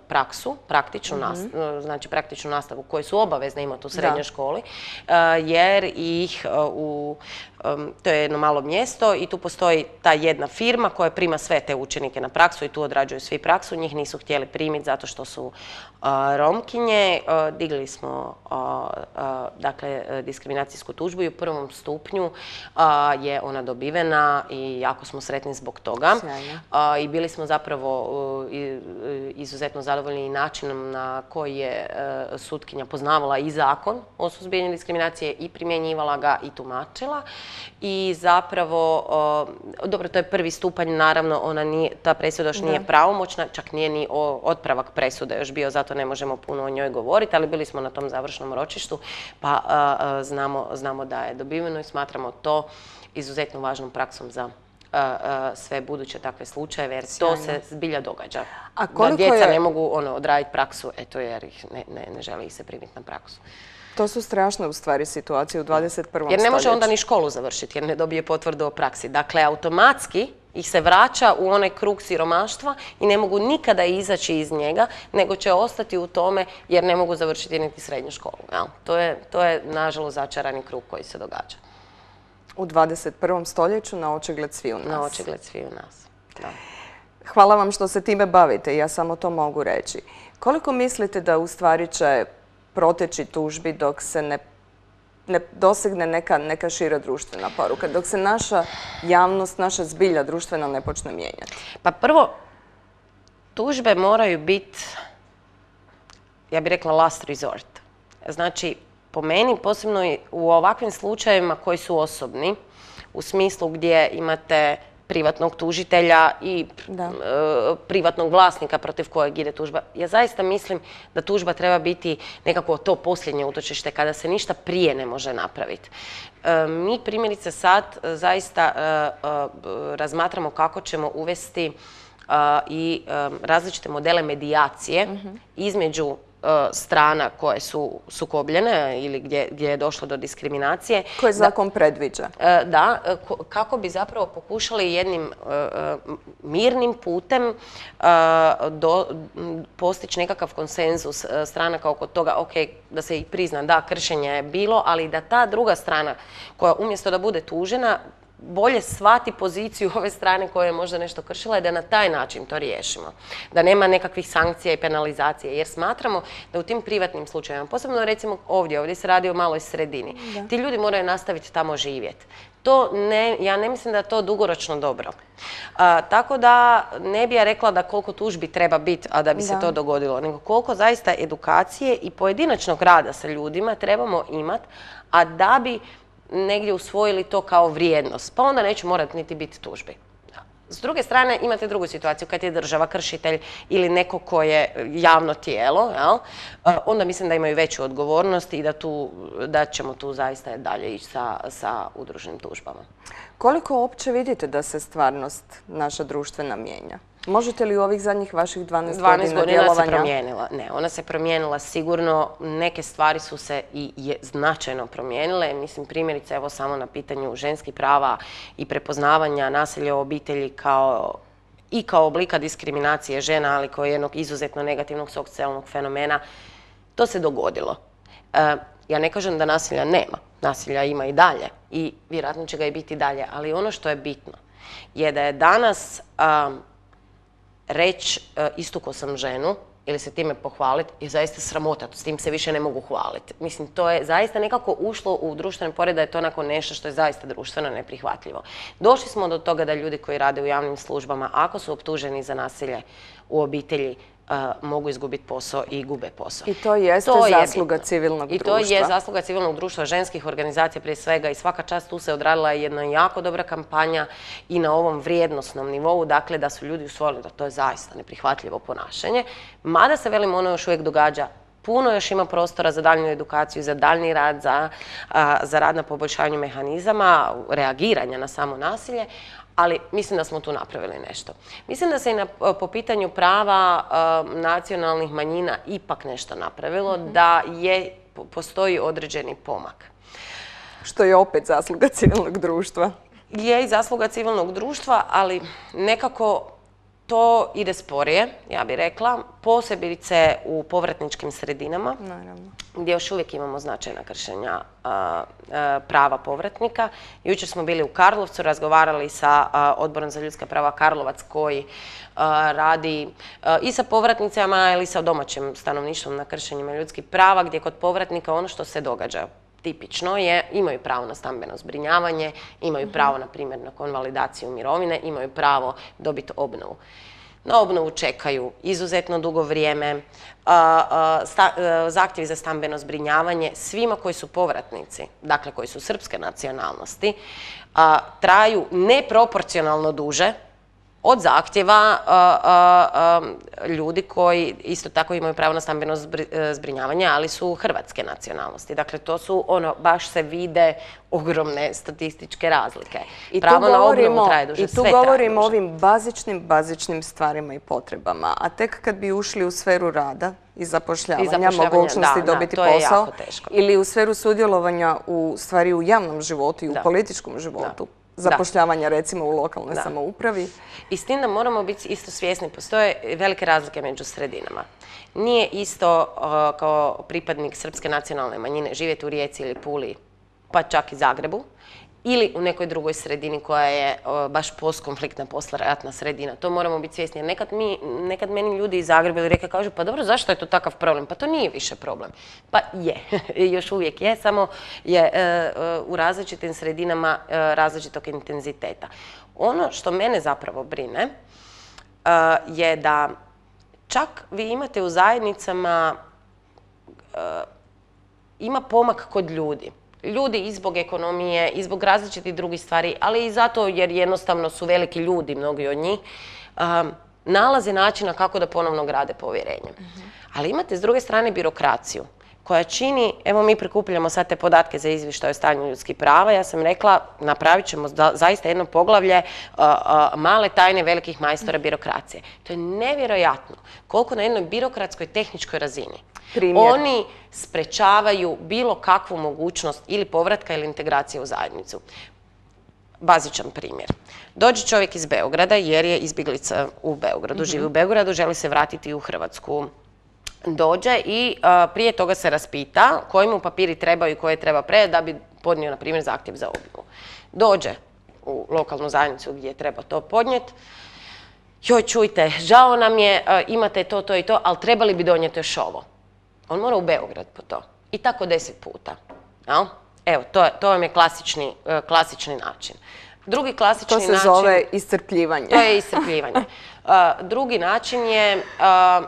Speaker 3: praksu, praktičnu, nastavu, znači praktičnu nastavu koju su obavezne imati u srednjoj školi, jer ih u to je jedno malo mjesto i tu postoji ta jedna firma koja prima sve te učenike na praksu i tu odrađuju svi praksu. Njih nisu htjeli primiti zato što su Romkinje. Digli smo dakle diskriminacijsku tužbu i u prvom stupnju je ona dobivena i jako smo sretni zbog toga. I bili smo zapravo izuzetno zadovoljni i načinom na koji je sutkinja poznavala i zakon o suzbijanju diskriminacije i primjenjivala ga i tumačila. I zapravo, dobro, to je prvi stupanj, naravno, ona nije, ta presuda još nije pravomoćna, čak nije ni otpravak presude još bio, zato ne možemo puno o njoj govoriti, ali bili smo na tom završnom ročištu, pa znamo, znamo da je dobiveno i smatramo to izuzetno važnom praksom za sve buduće takve slučajeve, jer to se zbilja događa. Da djeca ne mogu ono, odraditi praksu, eto, jer ih ne, ne, ne žele ih se primiti na praksu.
Speaker 2: To su strašne u stvari situacije u dvadeset prvom stoljeću.
Speaker 3: Jer ne može onda ni školu završiti jer ne dobije potvrdu o praksi. Dakle, automatski ih se vraća u onaj krug siromaštva i ne mogu nikada izaći iz njega, nego će ostati u tome jer ne mogu završiti niti srednju školu. Jel? To je, to je nažalost začarani krug koji se događa.
Speaker 2: U dvadeset prvom stoljeću na očigled sviju nas.
Speaker 3: Na očigled sviju nas, da.
Speaker 2: Hvala vam što se time bavite, ja samo to mogu reći. Koliko mislite da u stvari će proteći tužbi dok se ne, ne dosegne neka, neka šira društvena poruka, dok se naša javnost, naša zbilja društvena ne počne mijenjati?
Speaker 3: Pa prvo, tužbe moraju biti, ja bih rekla, last resort. Znači, po meni, posebno u ovakvim slučajevima koji su osobni, u smislu gdje imate privatnog tužitelja i e, privatnog vlasnika protiv kojeg ide tužba. Ja zaista mislim da tužba treba biti nekako to posljednje utočište kada se ništa prije ne može napraviti. E, mi primjerice sad zaista e, e, razmatramo kako ćemo uvesti e, i e, različite modele medijacije mm-hmm. između strana koje su sukobljene ili gdje, gdje je došlo do diskriminacije.
Speaker 2: Koje zakon da, predviđa?
Speaker 3: Da, kako bi zapravo pokušali jednim uh, mirnim putem uh, do, postići nekakav konsenzus stranaka oko toga, ok, da se i prizna da kršenje je bilo, ali da ta druga strana koja umjesto da bude tužena, bolje shvati poziciju ove strane koja je možda nešto kršila i da na taj način to riješimo. Da nema nekakvih sankcija i penalizacije. Jer smatramo da u tim privatnim slučajevima, posebno recimo ovdje, ovdje se radi o maloj sredini, da. Ti ljudi moraju nastaviti tamo živjeti. To ne, ja ne mislim da je to dugoročno dobro. A, tako da ne bi ja rekla da koliko tužbi treba biti, a da bi da. se to dogodilo, nego koliko zaista edukacije i pojedinačnog rada sa ljudima trebamo imati, a da bi negdje usvojili to kao vrijednost, pa onda neće morati niti biti tužbi. S druge strane, imate drugu situaciju, kad je država kršitelj ili neko ko je javno tijelo, jel? Onda mislim da imaju veću odgovornost i da, tu, da ćemo tu zaista dalje ići sa, sa udruženim tužbama.
Speaker 2: Koliko uopće vidite da se stvarnost naša društvena mijenja? Možete li u ovih zadnjih vaših dvanaest godina djelovanja?
Speaker 3: dvanaest godina se promijenila. Ne, ona se promijenila sigurno. Neke stvari su se i je značajno promijenile. Mislim, primjerice, evo samo na pitanju ženskih prava i prepoznavanja nasilja u obitelji kao i kao oblika diskriminacije žena, ali kao jednog izuzetno negativnog socijalnog fenomena. To se dogodilo. E, ja ne kažem da nasilja nema. Nasilja ima i dalje i vjerojatno će ga i biti dalje. Ali ono što je bitno je da je danas um, reći uh, istukao sam ženu ili se time pohvaliti je zaista sramota, s tim se više ne mogu hvaliti. Mislim, to je zaista nekako ušlo u društveni pored da je to onako nešto što je zaista društveno neprihvatljivo. Došli smo do toga da ljudi koji rade u javnim službama, ako su optuženi za nasilje u obitelji, Uh, mogu izgubiti posao i gube posao.
Speaker 2: I to jeste to zasluga je civilnog
Speaker 3: I
Speaker 2: društva.
Speaker 3: I to je zasluga civilnog društva, ženskih organizacija prije svega i svaka čast tu se odradila jedna jako dobra kampanja i na ovom vrijednosnom nivou, dakle da su ljudi usvojili da to je zaista neprihvatljivo ponašanje. Mada se, velim, ono još uvijek događa, puno još ima prostora za daljnju edukaciju, za daljni rad, za, a, za rad na poboljšanju mehanizama, reagiranja na samo nasilje, ali mislim da smo tu napravili nešto. Mislim da se i na, po pitanju prava uh, nacionalnih manjina ipak nešto napravilo, mm-hmm. da je, postoji određeni pomak.
Speaker 2: Što je opet zasluga civilnog društva.
Speaker 3: je i zasluga civilnog društva, ali nekako to ide sporije, ja bih rekla, posebice u povratničkim sredinama,
Speaker 2: Naravno.
Speaker 3: gdje još uvijek imamo značajna kršenja a, a, prava povratnika. Jučer smo bili u Karlovcu, razgovarali sa a, Odborom za ljudska prava Karlovac koji a, radi a, i sa povratnicama ili sa domaćim stanovništvom na kršenjima ljudskih prava, gdje kod povratnika ono što se događa tipično je, imaju pravo na stambeno zbrinjavanje, imaju pravo, na primjer, na konvalidaciju mirovine, imaju pravo dobiti obnovu. Na obnovu čekaju izuzetno dugo vrijeme, zahtjevi za stambeno zbrinjavanje svima koji su povratnici, dakle koji su srpske nacionalnosti, traju neproporcionalno duže od zahtjeva ljudi koji isto tako imaju pravo na stambeno zbrinjavanje, ali su hrvatske nacionalnosti. Dakle, to su, ono, baš se vide ogromne statističke razlike.
Speaker 2: I
Speaker 3: pravo
Speaker 2: tu
Speaker 3: na
Speaker 2: govorimo,
Speaker 3: obnovu traje duže,
Speaker 2: i tu
Speaker 3: sve traje
Speaker 2: govorimo o
Speaker 3: duže.
Speaker 2: ovim bazičnim, bazičnim stvarima i potrebama. A tek kad bi ušli u sferu rada i zapošljavanja,
Speaker 3: I zapošljavanja,
Speaker 2: mogućnosti
Speaker 3: da, da,
Speaker 2: dobiti
Speaker 3: to je
Speaker 2: posao,
Speaker 3: jako teško.
Speaker 2: ili u sferu sudjelovanja u stvari u javnom životu i u
Speaker 3: Da.
Speaker 2: političkom životu,
Speaker 3: Da.
Speaker 2: zapošljavanja recimo u lokalnoj
Speaker 3: Da.
Speaker 2: samoupravi.
Speaker 3: I s tim da moramo biti isto svjesni, postoje velike razlike među sredinama. Nije isto uh, kao pripadnik srpske nacionalne manjine živjeti u Rijeci ili Puli, pa čak i Zagrebu, ili u nekoj drugoj sredini koja je uh, baš postkonfliktna, poslijeratna sredina. To moramo biti svjesni. Jer nekad, mi, nekad meni ljudi iz Zagreba ili Rijeke kažu, pa dobro, zašto je to takav problem? Pa to nije više problem. Pa je, još uvijek je, samo je uh, uh, u različitim sredinama uh, različitog intenziteta. Ono što mene zapravo brine uh, je da čak vi imate u zajednicama, uh, ima pomak kod ljudi. Ljudi i zbog ekonomije, i zbog različitih drugih stvari, ali i zato jer jednostavno su veliki ljudi, mnogi od njih, um, nalaze načina kako da ponovno grade povjerenje. Mm-hmm. Ali imate s druge strane birokraciju koja čini, evo mi prikupljamo sad te podatke za izvještaj o stanju ljudskih prava, ja sam rekla napravit ćemo za, zaista jedno poglavlje uh, uh, male tajne velikih majstora birokracije. To je nevjerojatno koliko na jednoj birokratskoj tehničkoj razini
Speaker 2: Primjer.
Speaker 3: oni sprečavaju bilo kakvu mogućnost ili povratka ili integracije u zajednicu. Bazičan primjer. Dođe čovjek iz Beograda jer je izbjeglica u Beogradu, živi u Beogradu, želi se vratiti u Hrvatsku. Dođe i a, prije toga se raspita koji mu papiri trebaju i koje treba predati da bi podnio, na primjer, zahtjev za obnovu. Dođe u lokalnu zajednicu gdje treba to podnijeti. Joj, čujte, žao nam je, a, imate to, to i to, ali trebali bi donijeti još ovo. On mora u Beograd po to. I tako deset puta. Jel? Evo, to, to vam je klasični, uh, klasični način. Drugi klasični način...
Speaker 2: To se
Speaker 3: način,
Speaker 2: zove iscrpljivanje.
Speaker 3: To je iscrpljivanje. Uh, drugi način je... Uh,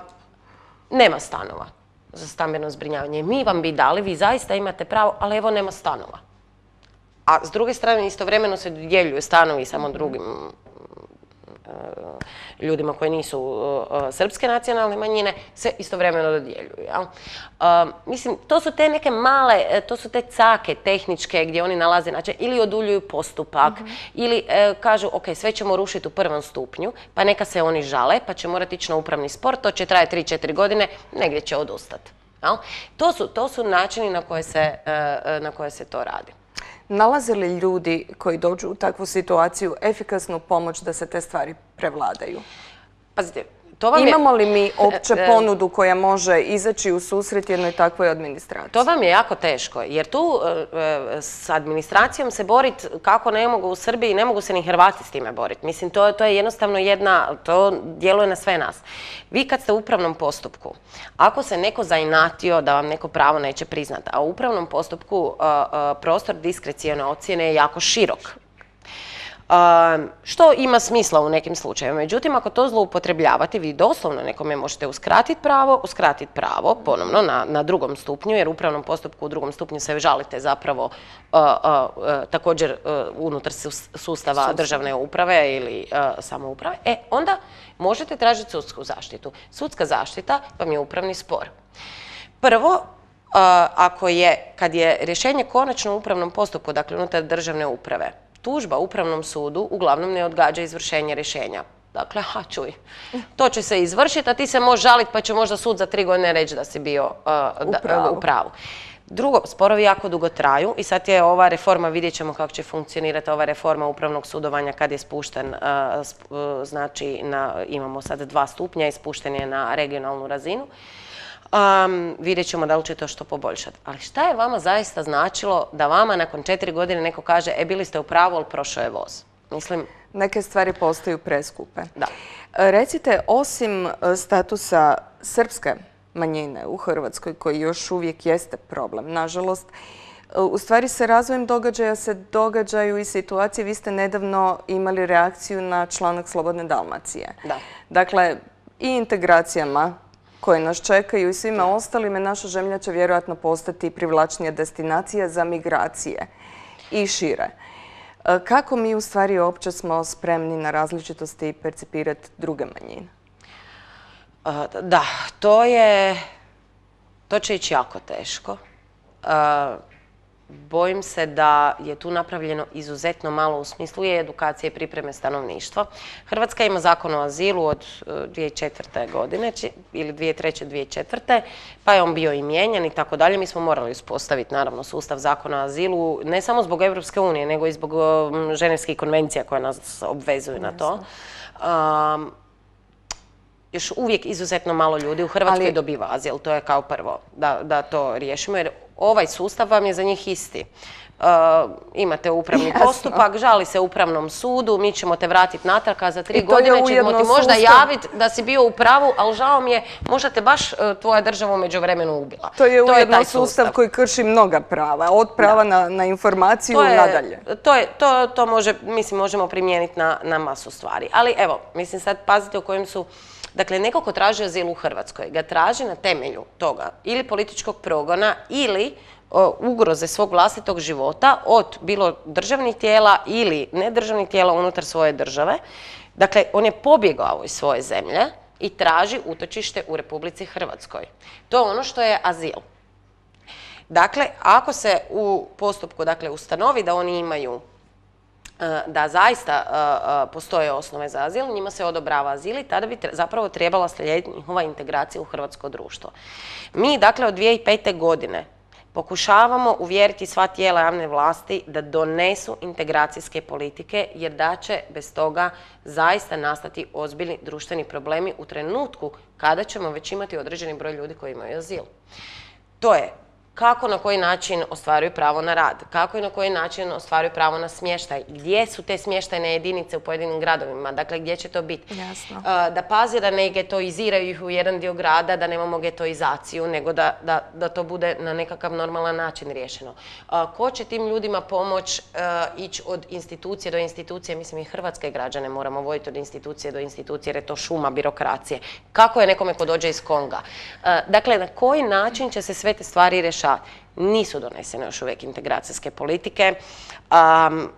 Speaker 3: nema stanova za stambeno zbrinjavanje. Mi vam bi dali, vi zaista imate pravo, ali evo nema stanova. A s druge strane istovremeno se dodjeljuju stanovi samo drugim ljudima koji nisu uh, srpske nacionalne manjine, se istovremeno dodjeljuju. Ja? Uh, mislim, to su te neke male, to su te cake tehničke gdje oni nalaze način, ili oduljuju postupak, mm-hmm. ili uh, kažu, ok, sve ćemo rušiti u prvom stupnju, pa neka se oni žale, pa će morati ići na upravni spor, to će trajati tri četiri godine, negdje će odustati. Ja? To su, to su načini na koje se, uh, na koje se to radi.
Speaker 2: Nalaze li ljudi koji dođu u takvu situaciju efikasnu pomoć da se te stvari prevladaju?
Speaker 3: Pazite, to vam je...
Speaker 2: Imamo li mi opće ponudu koja može izaći u susret jednoj takvoj administraciji?
Speaker 3: To vam je jako teško, jer tu e, s administracijom se boriti kako ne mogu u Srbiji, ne mogu se ni Hrvati s time boriti. Mislim, to, to je jednostavno jedna, to djeluje na sve nas. Vi kad ste u upravnom postupku, ako se neko zainatio da vam neko pravo neće priznati, a u upravnom postupku a, a, prostor diskrecione ocjene je jako širok. Um, što ima smisla u nekim slučajevima. Međutim, ako to zloupotrebljavate, vi doslovno nekome možete uskratiti pravo, uskratiti pravo ponovno na, na drugom stupnju, jer u upravnom postupku u drugom stupnju se žalite zapravo uh, uh, uh, također uh, unutar sustava Sustav. državne uprave ili uh, samouprave, e, onda možete tražiti sudsku zaštitu. Sudska zaštita vam je upravni spor. Prvo, Uh, ako je, kad je rješenje konačno u upravnom postupku, dakle unutar državne uprave, tužba upravnom sudu uglavnom ne odgađa izvršenje rješenja. Dakle, ha, čuj, to će se izvršiti, a ti se možeš žaliti pa će možda sud za tri godine reći da si bio uh, da, uh, u pravu. Drugo, sporovi jako dugo traju i sad je ova reforma, vidjet ćemo kako će funkcionirati ova reforma upravnog sudovanja kad je spušten, znači na, imamo sad dva stupnja i spušten je na regionalnu razinu. Um, vidjet ćemo da li će to što poboljšati. Ali šta je vama zaista značilo da vama nakon četiri godine neko kaže e, bili ste u pravu, ali prošao je voz? Mislim...
Speaker 2: Neke stvari postaju preskupe.
Speaker 3: Da.
Speaker 2: Recite, osim statusa srpske manjine u Hrvatskoj, koji još uvijek jeste problem, nažalost, u stvari sa razvojem događaja se događaju i situacije. Vi ste nedavno imali reakciju na članak Slobodne Dalmacije.
Speaker 3: Da.
Speaker 2: Dakle, i integracijama koje nas čekaju i svima ostalime, naša zemlja će vjerojatno postati privlačnija destinacija za migracije i šire. Kako mi u stvari uopće smo spremni na različitosti i percipirati druge manjine?
Speaker 3: Da, to je, to će ići jako teško. Bojim se da je tu napravljeno izuzetno malo u smislu i edukacije i pripreme stanovništva. Hrvatska ima zakon o azilu od dvije tisuće četvrte. godine ili dvije tisuće treće. dvije tisuće četvrte. pa je on bio i mijenjan i tako dalje. Mi smo morali uspostaviti naravno sustav zakona o azilu ne samo zbog Europske unije nego i zbog ženevskih konvencija koje nas obvezuju na to. Um, još uvijek izuzetno malo ljudi u Hrvatskoj Ali... dobiva azil, to je kao prvo da, da to riješimo, jer ovaj sustav vam je za njih isti. Uh, imate upravni Jasno. postupak, žali se upravnom sudu, mi ćemo te vratiti natrag, a za tri godine ćemo ti možda javiti da si bio u pravu, ali žao mi je, možda te baš uh, tvoja država u međuvremenu ubila.
Speaker 2: To je to ujedno je sustav, sustav koji krši mnoga prava, od prava na, na informaciju
Speaker 3: to je,
Speaker 2: nadalje.
Speaker 3: To, je, to, to može, mislim, možemo primijeniti na, na masu stvari. Ali evo, mislim sad pazite u kojem su. Dakle, neko ko traži azil u Hrvatskoj ga traži na temelju toga ili političkog progona ili o, ugroze svog vlastitog života od bilo državnih tijela ili nedržavnih tijela unutar svoje države. Dakle, on je pobjegao iz svoje zemlje i traži utočište u Republici Hrvatskoj. To je ono što je azil. Dakle, ako se u postupku dakle, ustanovi da oni imaju da zaista uh, postoje osnove za azil, njima se odobrava azil i tada bi zapravo trebala slijediti njihova integracija u hrvatsko društvo. Mi, dakle, od dvije tisuće pete. godine pokušavamo uvjeriti sva tijela javne vlasti da donesu integracijske politike, jer da će bez toga zaista nastati ozbiljni društveni problemi u trenutku kada ćemo već imati određeni broj ljudi koji imaju azil. To je kako na koji način ostvaruju pravo na rad, kako i na koji način ostvaruju pravo na smještaj, gdje su te smještajne jedinice u pojedinim gradovima, dakle gdje će to biti.
Speaker 2: Jasno.
Speaker 3: Da pazi da ne getoiziraju ih u jedan dio grada, da nemamo getoizaciju, nego da, da, da to bude na nekakav normalan način riješeno. Ko će tim ljudima pomoć ići od institucije do institucije, mislim i hrvatske građane moramo voditi od institucije do institucije jer je to šuma birokracije. Kako je nekome ko dođe iz Konga? Dakle, na koji način će se sve te stvari rješavati? Nisu donesene još uvijek integracijske politike. Um,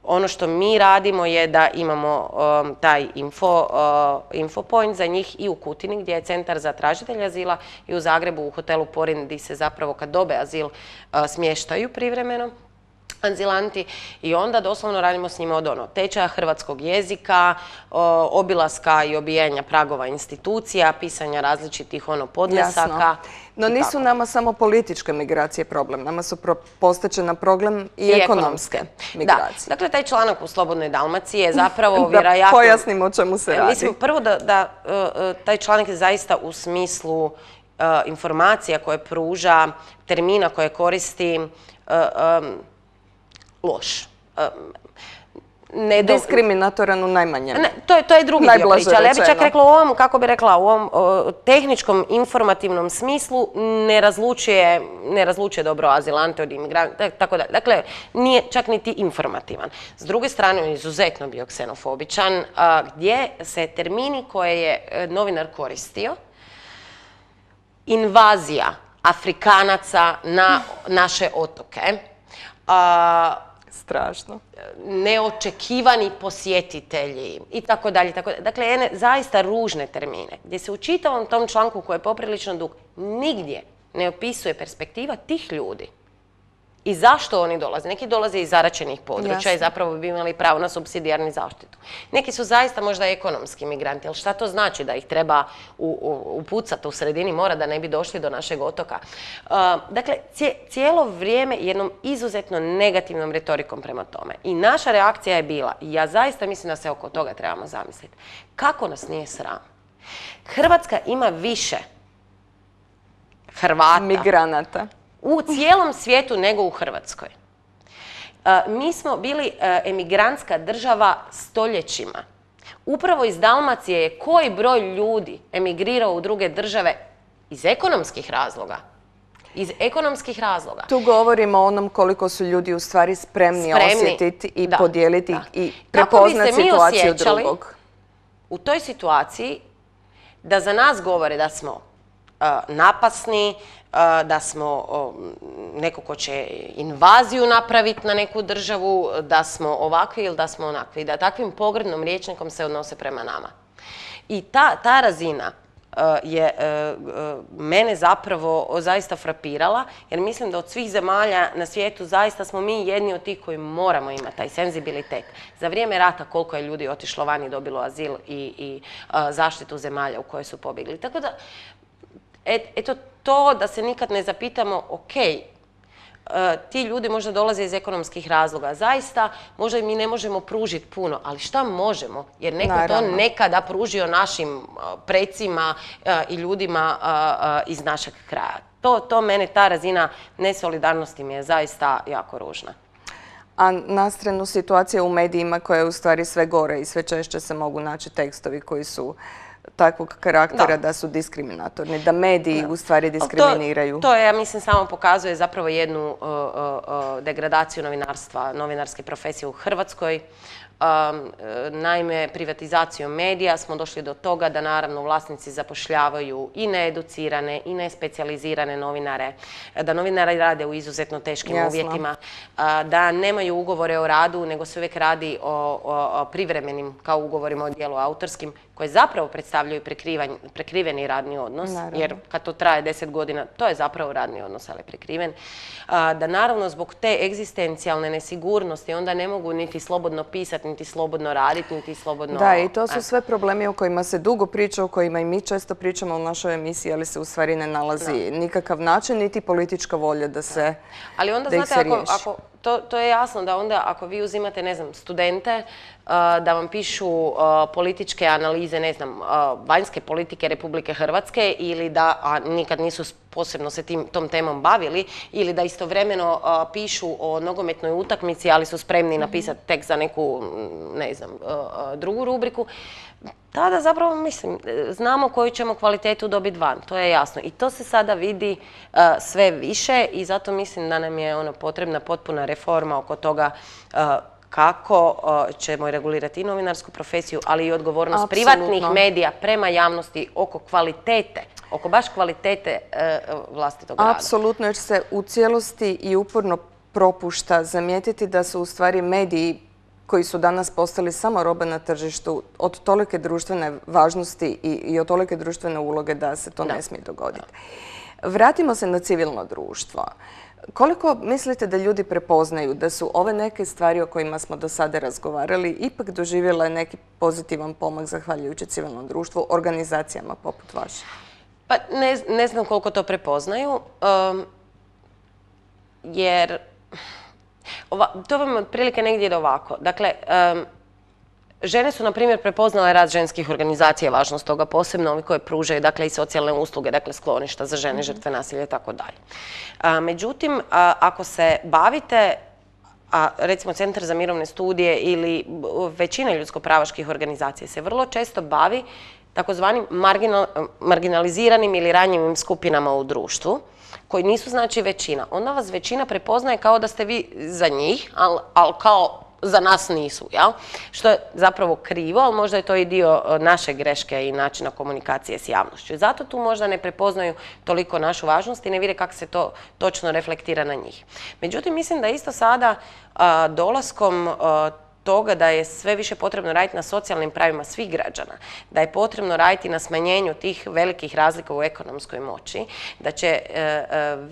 Speaker 3: ono što mi radimo je da imamo um, taj info, uh, info point za njih i u Kutini gdje je centar za tražitelje azila i u Zagrebu u hotelu Porin gdje se zapravo kad dobe azil uh, smještaju privremeno azilanti i onda doslovno radimo s njima od ono tečaja hrvatskog jezika, obilaska i obijenja pragova institucija, pisanja različitih ono podnesaka.
Speaker 2: Jasno. No nisu tako. Nama samo političke migracije problem, nama su postaće na problem i, I ekonomske, ekonomske migracije.
Speaker 3: Da. Dakle, taj članak u Slobodnoj Dalmaciji je zapravo
Speaker 2: da
Speaker 3: vjerojatno...
Speaker 2: pojasnimo o čemu se radi.
Speaker 3: Mislim, prvo da, da uh, taj članak je zaista u smislu uh, informacija koje pruža, termina koje koristi uh, um, loš.
Speaker 2: Ne diskriminatoran u najmanjem.
Speaker 3: Ne, to, je, to je drugi dio priče, ali ja bih čak rekla u ovom, kako bi rekla, u ovom o, tehničkom, informativnom smislu ne razlučuje, ne razlučuje dobro azilante od imigranta, tako da. Dakle, nije čak niti informativan. S druge strane, on je izuzetno bio ksenofobičan, a, gdje se termini koje je novinar koristio, invazija Afrikanaca na naše otoke, a,
Speaker 2: strašno.
Speaker 3: Neočekivani posjetitelji i tako dalje. Dakle, jedne zaista ružne termine gdje se u čitavom tom članku koji je poprilično dug nigdje ne opisuje perspektiva tih ljudi. I zašto oni dolaze? Neki dolaze iz zaraćenih područja
Speaker 2: Jasno.
Speaker 3: i zapravo bi imali pravo na supsidijarnu zaštitu. Neki su zaista možda ekonomski migranti, ali šta to znači da ih treba upucati u sredini mora da ne bi došli do našeg otoka? Uh, dakle, cije, cijelo vrijeme jednom izuzetno negativnom retorikom prema tome. I naša reakcija je bila, i ja zaista mislim da se oko toga trebamo zamisliti, kako nas nije sram? Hrvatska ima više Hrvata
Speaker 2: Migranata.
Speaker 3: u cijelom svijetu nego u Hrvatskoj. Uh, mi smo bili uh, emigrantska država stoljećima. Upravo iz Dalmacije je koji broj ljudi emigrirao u druge države iz ekonomskih razloga. Iz ekonomskih razloga.
Speaker 2: Tu govorimo o onom koliko su ljudi u stvari spremni,
Speaker 3: Spremni,
Speaker 2: osjetiti i
Speaker 3: da,
Speaker 2: podijeliti
Speaker 3: da.
Speaker 2: i
Speaker 3: Kako bi se
Speaker 2: prepoznati
Speaker 3: mi
Speaker 2: situaciju
Speaker 3: osjećali
Speaker 2: drugog.
Speaker 3: u toj situaciji da za nas govore da smo uh, napasni, uh, da smo uh, neko ko će invaziju napraviti na neku državu, da smo ovakvi ili da smo onakvi. Da takvim pogrdnom rječnikom se odnose prema nama. I ta, ta razina uh, je uh, uh, mene zapravo zaista frapirala, jer mislim da od svih zemalja na svijetu zaista smo mi jedni od tih koji moramo imati taj senzibilitet. Za vrijeme rata koliko je ljudi otišlo van i dobilo azil i, i uh, zaštitu zemalja u koje su pobjegli. Tako da, et, eto to da se nikad ne zapitamo, ok, Uh, ti ljudi možda dolaze iz ekonomskih razloga. Zaista, možda mi ne možemo pružiti puno, ali šta možemo? Jer neko
Speaker 2: Naravno.
Speaker 3: to nekada pružio našim uh, precima uh, i ljudima uh, uh, iz našeg kraja. To, to mene, ta razina nesolidarnosti mi je zaista jako ružna.
Speaker 2: A na stranu situacija u medijima koja je u stvari sve gore i sve češće se mogu naći tekstovi koji su takvog karaktera da,
Speaker 3: da
Speaker 2: su diskriminatorni, da mediji
Speaker 3: da.
Speaker 2: u stvari diskriminiraju.
Speaker 3: To, to je, ja mislim, samo pokazuje zapravo jednu uh, uh, degradaciju novinarstva, novinarske profesije u Hrvatskoj. Um, naime, privatizacijom medija smo došli do toga da naravno vlasnici zapošljavaju i needucirane i nespecijalizirane novinare, da novinari rade u izuzetno teškim
Speaker 2: Jasno.
Speaker 3: uvjetima, da nemaju ugovore o radu, nego se uvijek radi o, o, o privremenim, kao ugovorima o djelu autorskim, koje zapravo predstavljaju prekriveni radni odnos,
Speaker 2: naravno.
Speaker 3: Jer kad to traje deset godina, to je zapravo radni odnos, ali prikriven. Da naravno zbog te egzistencijalne nesigurnosti onda ne mogu niti slobodno pisati, niti slobodno raditi, niti slobodno...
Speaker 2: Da, i to su sve problemi o kojima se dugo priča, o kojima i mi često pričamo u našoj emisiji, ali se u stvari ne nalazi da. nikakav način, niti politička volja da se da.
Speaker 3: Ali onda,
Speaker 2: da
Speaker 3: znate, ako, ako, to, to je jasno da onda ako vi uzimate, ne znam, studente, uh, da vam pišu uh, političke analize, ne znam, uh, vanjske politike Republike Hrvatske ili da, a nikad nisu posebno se tim, tom temom bavili, ili da istovremeno uh, pišu o nogometnoj utakmici, ali su spremni napisati tek za neku, ne znam, uh, drugu rubriku, tada zapravo, mislim, znamo koju ćemo kvalitetu dobiti van, to je jasno. I to se sada vidi uh, sve više i zato mislim da nam je ono potrebna potpuna reforma oko toga uh, kako uh, ćemo regulirati i novinarsku profesiju, ali i odgovornost
Speaker 2: Apsolutno.
Speaker 3: privatnih medija prema javnosti oko kvalitete, oko baš kvalitete uh, vlastitog rada.
Speaker 2: Apsolutno, jer se u cijelosti i uporno propušta zamijetiti da su u stvari mediji koji su danas postali samo roba na tržištu od tolike društvene važnosti i, i od tolike društvene uloge da se to da. ne smije dogoditi. Da. Vratimo se na civilno društvo. Koliko mislite da ljudi prepoznaju da su ove neke stvari o kojima smo do sada razgovarali ipak doživjele neki pozitivan pomak zahvaljujući civilnom društvu, organizacijama poput vaše?
Speaker 3: Pa ne, ne znam koliko to prepoznaju, um, jer ova, to vam otprilike negdje ide ovako. Dakle, um, žene su, na primjer, prepoznale rad ženskih organizacija, važnost toga, posebno ovi koje pružaju, dakle, i socijalne usluge, dakle, skloništa za žene, žrtve nasilja i tako dalje. Međutim, a, ako se bavite, a recimo Centar za mirovne studije ili većina ljudsko-pravaških organizacija se vrlo često bavi takozvanim marginal, marginaliziranim ili ranjivim skupinama u društvu, koji nisu znači većina. Onda vas većina prepoznaje kao da ste vi za njih, ali al kao za nas nisu, jel? Što je zapravo krivo, ali možda je to i dio naše greške i načina komunikacije s javnošću. Zato tu možda ne prepoznaju toliko našu važnost i ne vide kako se to točno reflektira na njih. Međutim, mislim da isto sada a, dolaskom a, toga da je sve više potrebno raditi na socijalnim pravima svih građana, da je potrebno raditi na smanjenju tih velikih razlika u ekonomskoj moći, da će e, e,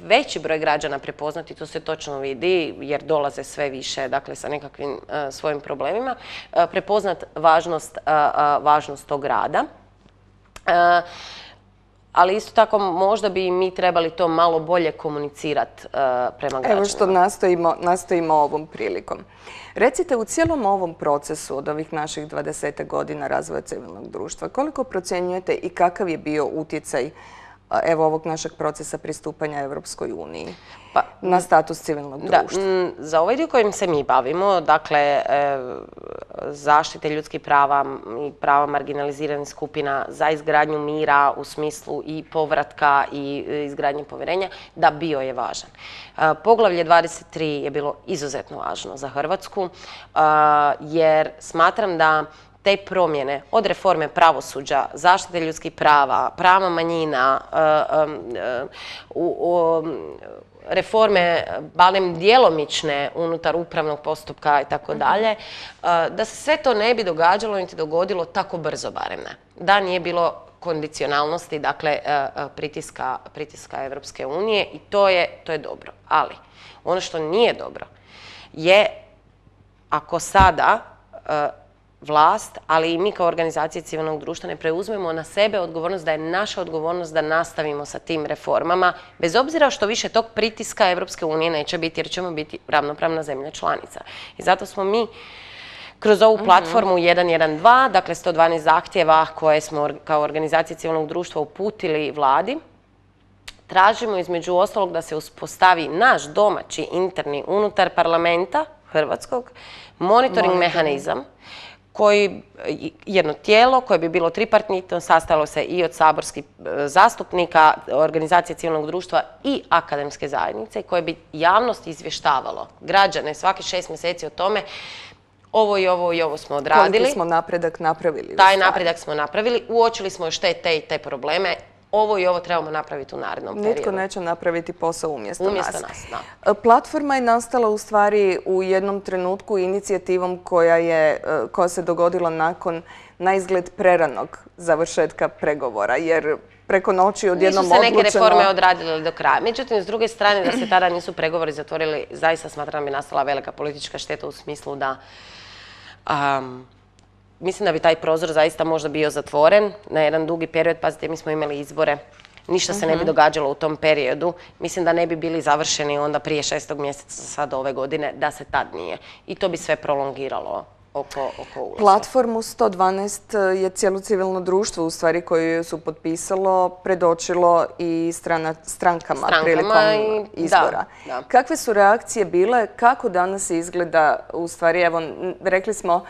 Speaker 3: veći broj građana prepoznati, to se točno vidi jer dolaze sve više, dakle sa nekakvim e, svojim problemima, e, prepoznat važnost, e, važnost tog rada. E, ali isto tako možda bi mi trebali to malo bolje komunicirati uh, prema građanima.
Speaker 2: Evo što nastojimo, nastojimo ovom prilikom. Recite, u cijelom ovom procesu od ovih naših dvadeset godina razvoja civilnog društva, koliko procjenjujete i kakav je bio utjecaj evo ovog našeg procesa pristupanja Europskoj uniji pa, na status civilnog društva?
Speaker 3: Da, za ovaj dio kojim se mi bavimo, dakle, e, zaštite ljudskih prava i prava marginaliziranih skupina za izgradnju mira u smislu i povratka i izgradnje povjerenja, da, bio je važan. E, poglavlje dvadeset tri je bilo izuzetno važno za Hrvatsku, e, jer smatram da te promjene od reforme pravosuđa, zaštite ljudskih prava, prava manjina, reforme barem djelomične unutar upravnog postupka i tako dalje, da se sve to ne bi događalo niti dogodilo tako brzo barem ne. Da nije bilo kondicionalnosti, dakle pritiska, pritiska Evropske unije i to je, to je dobro. Ali ono što nije dobro je ako sada vlast, ali i mi kao organizacije civilnog društva ne preuzmemo na sebe odgovornost da je naša odgovornost da nastavimo sa tim reformama, bez obzira što više tog pritiska Evropske unije neće biti jer ćemo biti ravnopravna zemlja članica. I zato smo mi kroz ovu platformu jedan jedan dva, dakle sto dvanaest zahtjeva koje smo kao organizacije civilnog društva uputili vladi, tražimo između ostalog da se uspostavi naš domaći interni unutar parlamenta hrvatskog monitoring mehanizam koji, jedno tijelo koje bi bilo tripartitno, sastojalo se i od saborskih zastupnika, organizacije civilnog društva i akademske zajednice koje bi javnost izvještavalo građane svaki šest mjeseci o tome ovo i ovo i ovo smo odradili.
Speaker 2: Koliki smo napredak napravili?
Speaker 3: Taj napredak smo napravili, uočili smo još te, te i te probleme. Ovo i ovo trebamo napraviti u narednom periodu.
Speaker 2: Nitko neće napraviti posao umjesto,
Speaker 3: umjesto nas.
Speaker 2: nas
Speaker 3: da.
Speaker 2: Platforma je nastala u stvari u jednom trenutku inicijativom koja, je, koja se dogodila nakon na izgled preranog završetka pregovora, jer preko noći odjednom odlučeno...
Speaker 3: Nisu se neke reforme odradile do kraja. Međutim, s druge strane, da se tada nisu pregovori zatvorili, zaista smatram da bi nastala velika politička šteta u smislu da... Um, Mislim da bi taj prozor zaista možda bio zatvoren na jedan dugi period. Pazite, mi smo imali izbore. Ništa se ne bi događalo u tom periodu. Mislim da ne bi bili završeni onda prije šestog mjeseca sad ove godine, da se tad nije. I to bi sve prolongiralo oko, oko ulaska.
Speaker 2: Platformu sto dvanaest je cijelo civilno društvo u stvari koje su potpisalo, predočilo i strana, strankama,
Speaker 3: strankama
Speaker 2: prilikom
Speaker 3: i,
Speaker 2: izbora.
Speaker 3: Da, da.
Speaker 2: Kakve su reakcije bile? Kako danas izgleda u stvari, evo, rekli smo,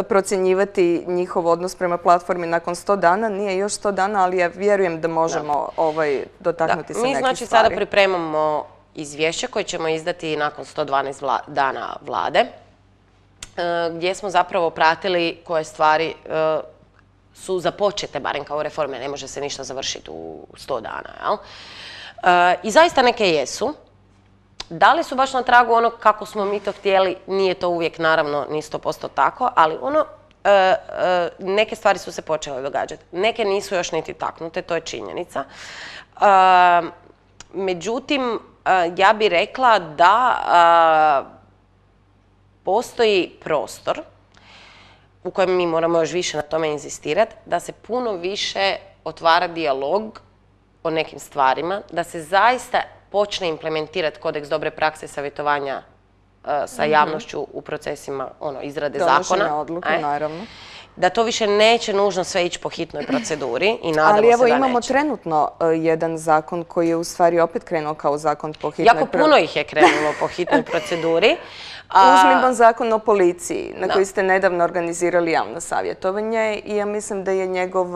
Speaker 2: procjenjivati njihov odnos prema platformi nakon sto dana. Nije još sto dana, ali ja vjerujem da možemo da. Ovaj, dotaknuti se
Speaker 3: Mi
Speaker 2: nekih
Speaker 3: znači
Speaker 2: stvari.
Speaker 3: Sada pripremamo izvješće koje ćemo izdati nakon sto dvanaest vla, dana vlade, gdje smo zapravo pratili koje stvari uh, su započete, barem kao reforme, ne može se ništa završiti u sto dana. Jel? Uh, I zaista neke jesu. Da li su baš na tragu onog kako smo mi to htjeli, nije to uvijek naravno ni sto posto tako, ali ono, e, e, neke stvari su se počele događati. Neke nisu još niti taknute, to je činjenica. E, međutim, e, ja bih rekla da e, postoji prostor u kojem mi moramo još više na tome inzistirati, da se puno više otvara dijalog o nekim stvarima, da se zaista počne implementirati kodeks dobre prakse savjetovanja uh, sa javnošću u procesima ono, izrade zakona.
Speaker 2: Donošenja odluka, e? naravno.
Speaker 3: Da to više neće nužno sve ići po hitnoj proceduri i nadamo
Speaker 2: Ali evo
Speaker 3: se da
Speaker 2: imamo
Speaker 3: neće.
Speaker 2: trenutno uh, jedan zakon koji je u stvari opet krenuo kao zakon po hitnoj proceduri.
Speaker 3: Jako puno ih je krenulo po hitnoj proceduri.
Speaker 2: Uzmimo zakon o policiji, na da. koji ste nedavno organizirali javno savjetovanje i ja mislim da je njegov,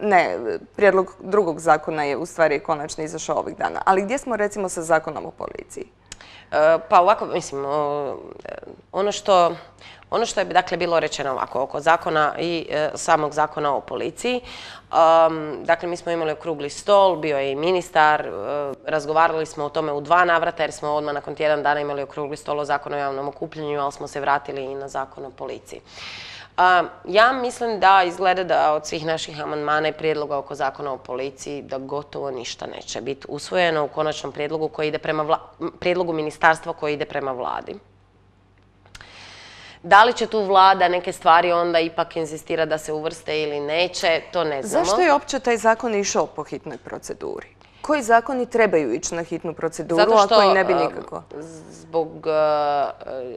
Speaker 2: ne, prijedlog drugog zakona je u stvari konačno izašao ovih dana. Ali gdje smo recimo sa zakonom o policiji?
Speaker 3: Pa ovako, mislim, ono što, ono što je dakle bilo rečeno ovako oko zakona i e, samog zakona o policiji, um, dakle mi smo imali okrugli stol, bio je i ministar, e, razgovarali smo o tome u dva navrata jer smo odmah nakon tjedan dana imali okrugli stol o zakonu o javnom okupljanju, ali smo se vratili i na zakon o policiji. Uh, ja mislim da izgleda da od svih naših amandmana i prijedloga oko zakona o policiji da gotovo ništa neće biti usvojeno u konačnom prijedlogu koji ide prema vla... prijedlogu ministarstva koji ide prema vladi. Da li će tu vlada neke stvari onda ipak inzistira da se uvrste ili neće, to ne znamo.
Speaker 2: Zašto je uopće taj zakon išao po hitnoj proceduri? Koji zakoni trebaju ići na hitnu proceduru,
Speaker 3: Zato što,
Speaker 2: a koji ne bi nikako?
Speaker 3: Zbog uh,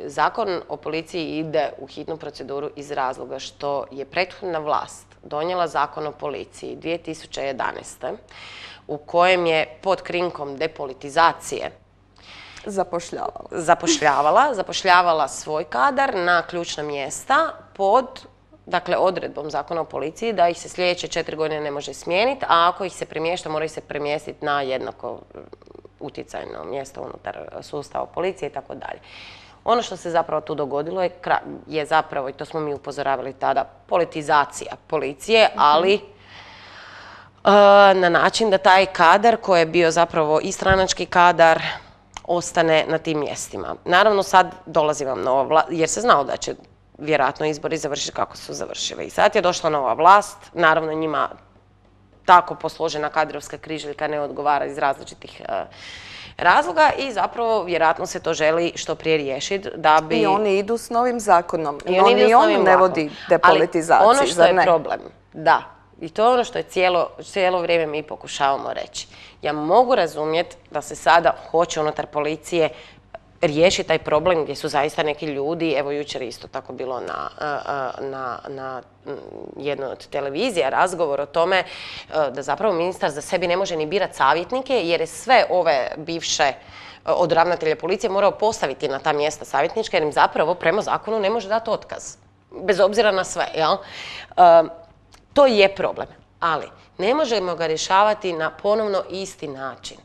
Speaker 3: zakon o policiji ide u hitnu proceduru iz razloga što je prethodna vlast donijela zakon o policiji dvije tisuće jedanaeste. u kojem je pod krinkom depolitizacije
Speaker 2: zapošljavala.
Speaker 3: Zapošljavala, zapošljavala svoj kadar na ključna mjesta pod dakle, odredbom zakona o policiji da ih se sljedeće četiri godine ne može smijeniti, a ako ih se premješta, mora ih se premjestiti na jednako utjecajno mjesto unutar sustava policije i tako dalje. Ono što se zapravo tu dogodilo je, je zapravo, i to smo mi upozoravali tada, politizacija policije, ali uh, na način da taj kadar koji je bio zapravo i stranački kadar ostane na tim mjestima. Naravno sad dolazi vam nova vlast, jer se znalo da će vjerojatno izbori završiti kako su završili. I sad je došla nova vlast, naravno njima tako posložena kadrovska križaljka ne odgovara iz različitih uh, razloga i zapravo vjerojatno se to želi što prije riješiti da bi...
Speaker 2: I oni idu s novim zakonom.
Speaker 3: I oni
Speaker 2: ni on ne vodi depolitizaciji,
Speaker 3: ono što
Speaker 2: zar
Speaker 3: je
Speaker 2: ne?
Speaker 3: problem, da, i to je ono što je cijelo, cijelo vrijeme mi pokušavamo reći. Ja mogu razumjeti da se sada hoće unutar policije riješi taj problem gdje su zaista neki ljudi, evo jučer isto tako bilo na, na, na jednoj od televizija razgovor o tome da zapravo ministar za sebi ne može ni birati savjetnike jer je sve ove bivše od ravnatelja policije morao postaviti na ta mjesta savjetnička jer im zapravo prema zakonu ne može dati otkaz. Bez obzira na sve, jel? To je problem, ali ne možemo ga rješavati na ponovno isti način.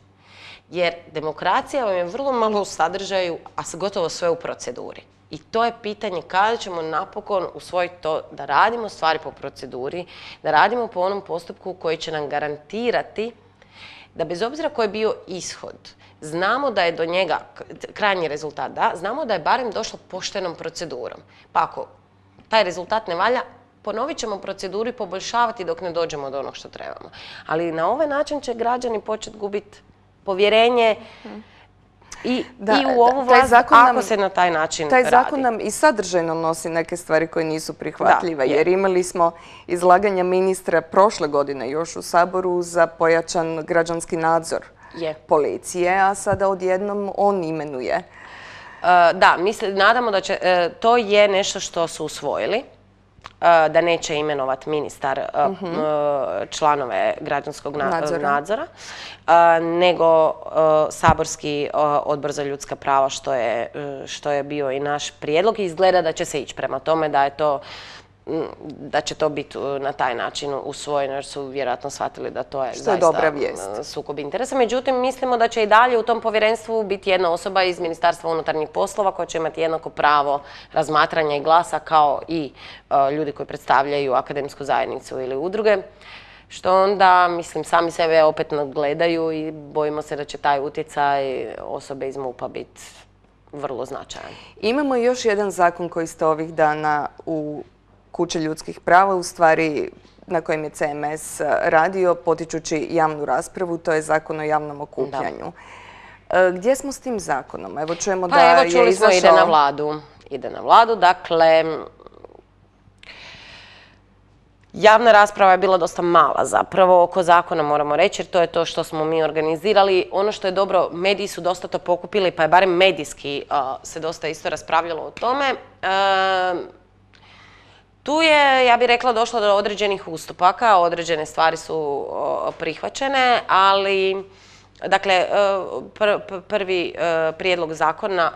Speaker 3: Jer demokracija vam je vrlo malo u sadržaju, a gotovo sve u proceduri. I to je pitanje kada ćemo napokon usvojiti to da radimo stvari po proceduri, da radimo po onom postupku koji će nam garantirati da bez obzira koji je bio ishod, znamo da je do njega krajnji rezultat, da, znamo da je barem došlo poštenom procedurom. Pa ako taj rezultat ne valja, ponovit ćemo proceduru i poboljšavati dok ne dođemo do onog što trebamo. Ali na ovaj način će građani početi gubiti povjerenje i, da, i u ovu vlast ako nam, se na taj način
Speaker 2: taj
Speaker 3: radi.
Speaker 2: Taj zakon nam i sadržajno nosi neke stvari koje nisu prihvatljive, da, jer imali smo izlaganja ministra prošle godine još u Saboru za pojačan građanski nadzor je. policije, a sada odjednom on imenuje.
Speaker 3: Uh, da, mi se nadamo da će, uh, to je nešto što su usvojili, da neće imenovati ministar uh-huh. članove građanskog nadzora, nadzora nego saborski odbor za ljudska prava, što je, što je bio i naš prijedlog. I izgleda da će se ići prema tome da je to da će to biti na taj način usvojeno jer su vjerojatno shvatili da to je
Speaker 2: što
Speaker 3: zaista
Speaker 2: je dobra vijest.
Speaker 3: Sukob interesa. Međutim, mislimo da će i dalje u tom povjerenstvu biti jedna osoba iz Ministarstva unutarnjih poslova koja će imati jednako pravo razmatranja i glasa kao i uh, ljudi koji predstavljaju akademsku zajednicu ili udruge. Što onda, mislim, sami sebe opet nadgledaju i bojimo se da će taj utjecaj osobe iz MUP-a biti vrlo značajan.
Speaker 2: Imamo još jedan zakon koji ste ovih dana u Kuće ljudskih prava, u stvari na kojem je C M S radio, potičući javnu raspravu, to je zakon o javnom okupljanju. Da. Gdje smo s tim zakonom? Evo čujemo
Speaker 3: pa
Speaker 2: da
Speaker 3: evo,
Speaker 2: je
Speaker 3: čuli
Speaker 2: izašao...
Speaker 3: smo, ide na vladu. Ide na vladu, dakle... Javna rasprava je bila dosta mala zapravo oko zakona, moramo reći, jer to je to što smo mi organizirali. Ono što je dobro, mediji su dosta to pokupili, pa je barem medijski uh, se dosta isto raspravljalo o tome. Uh, Tu je, ja bih rekla, došlo do određenih ustupaka, određene stvari su prihvaćene, ali Dakle, prvi prijedlog zakona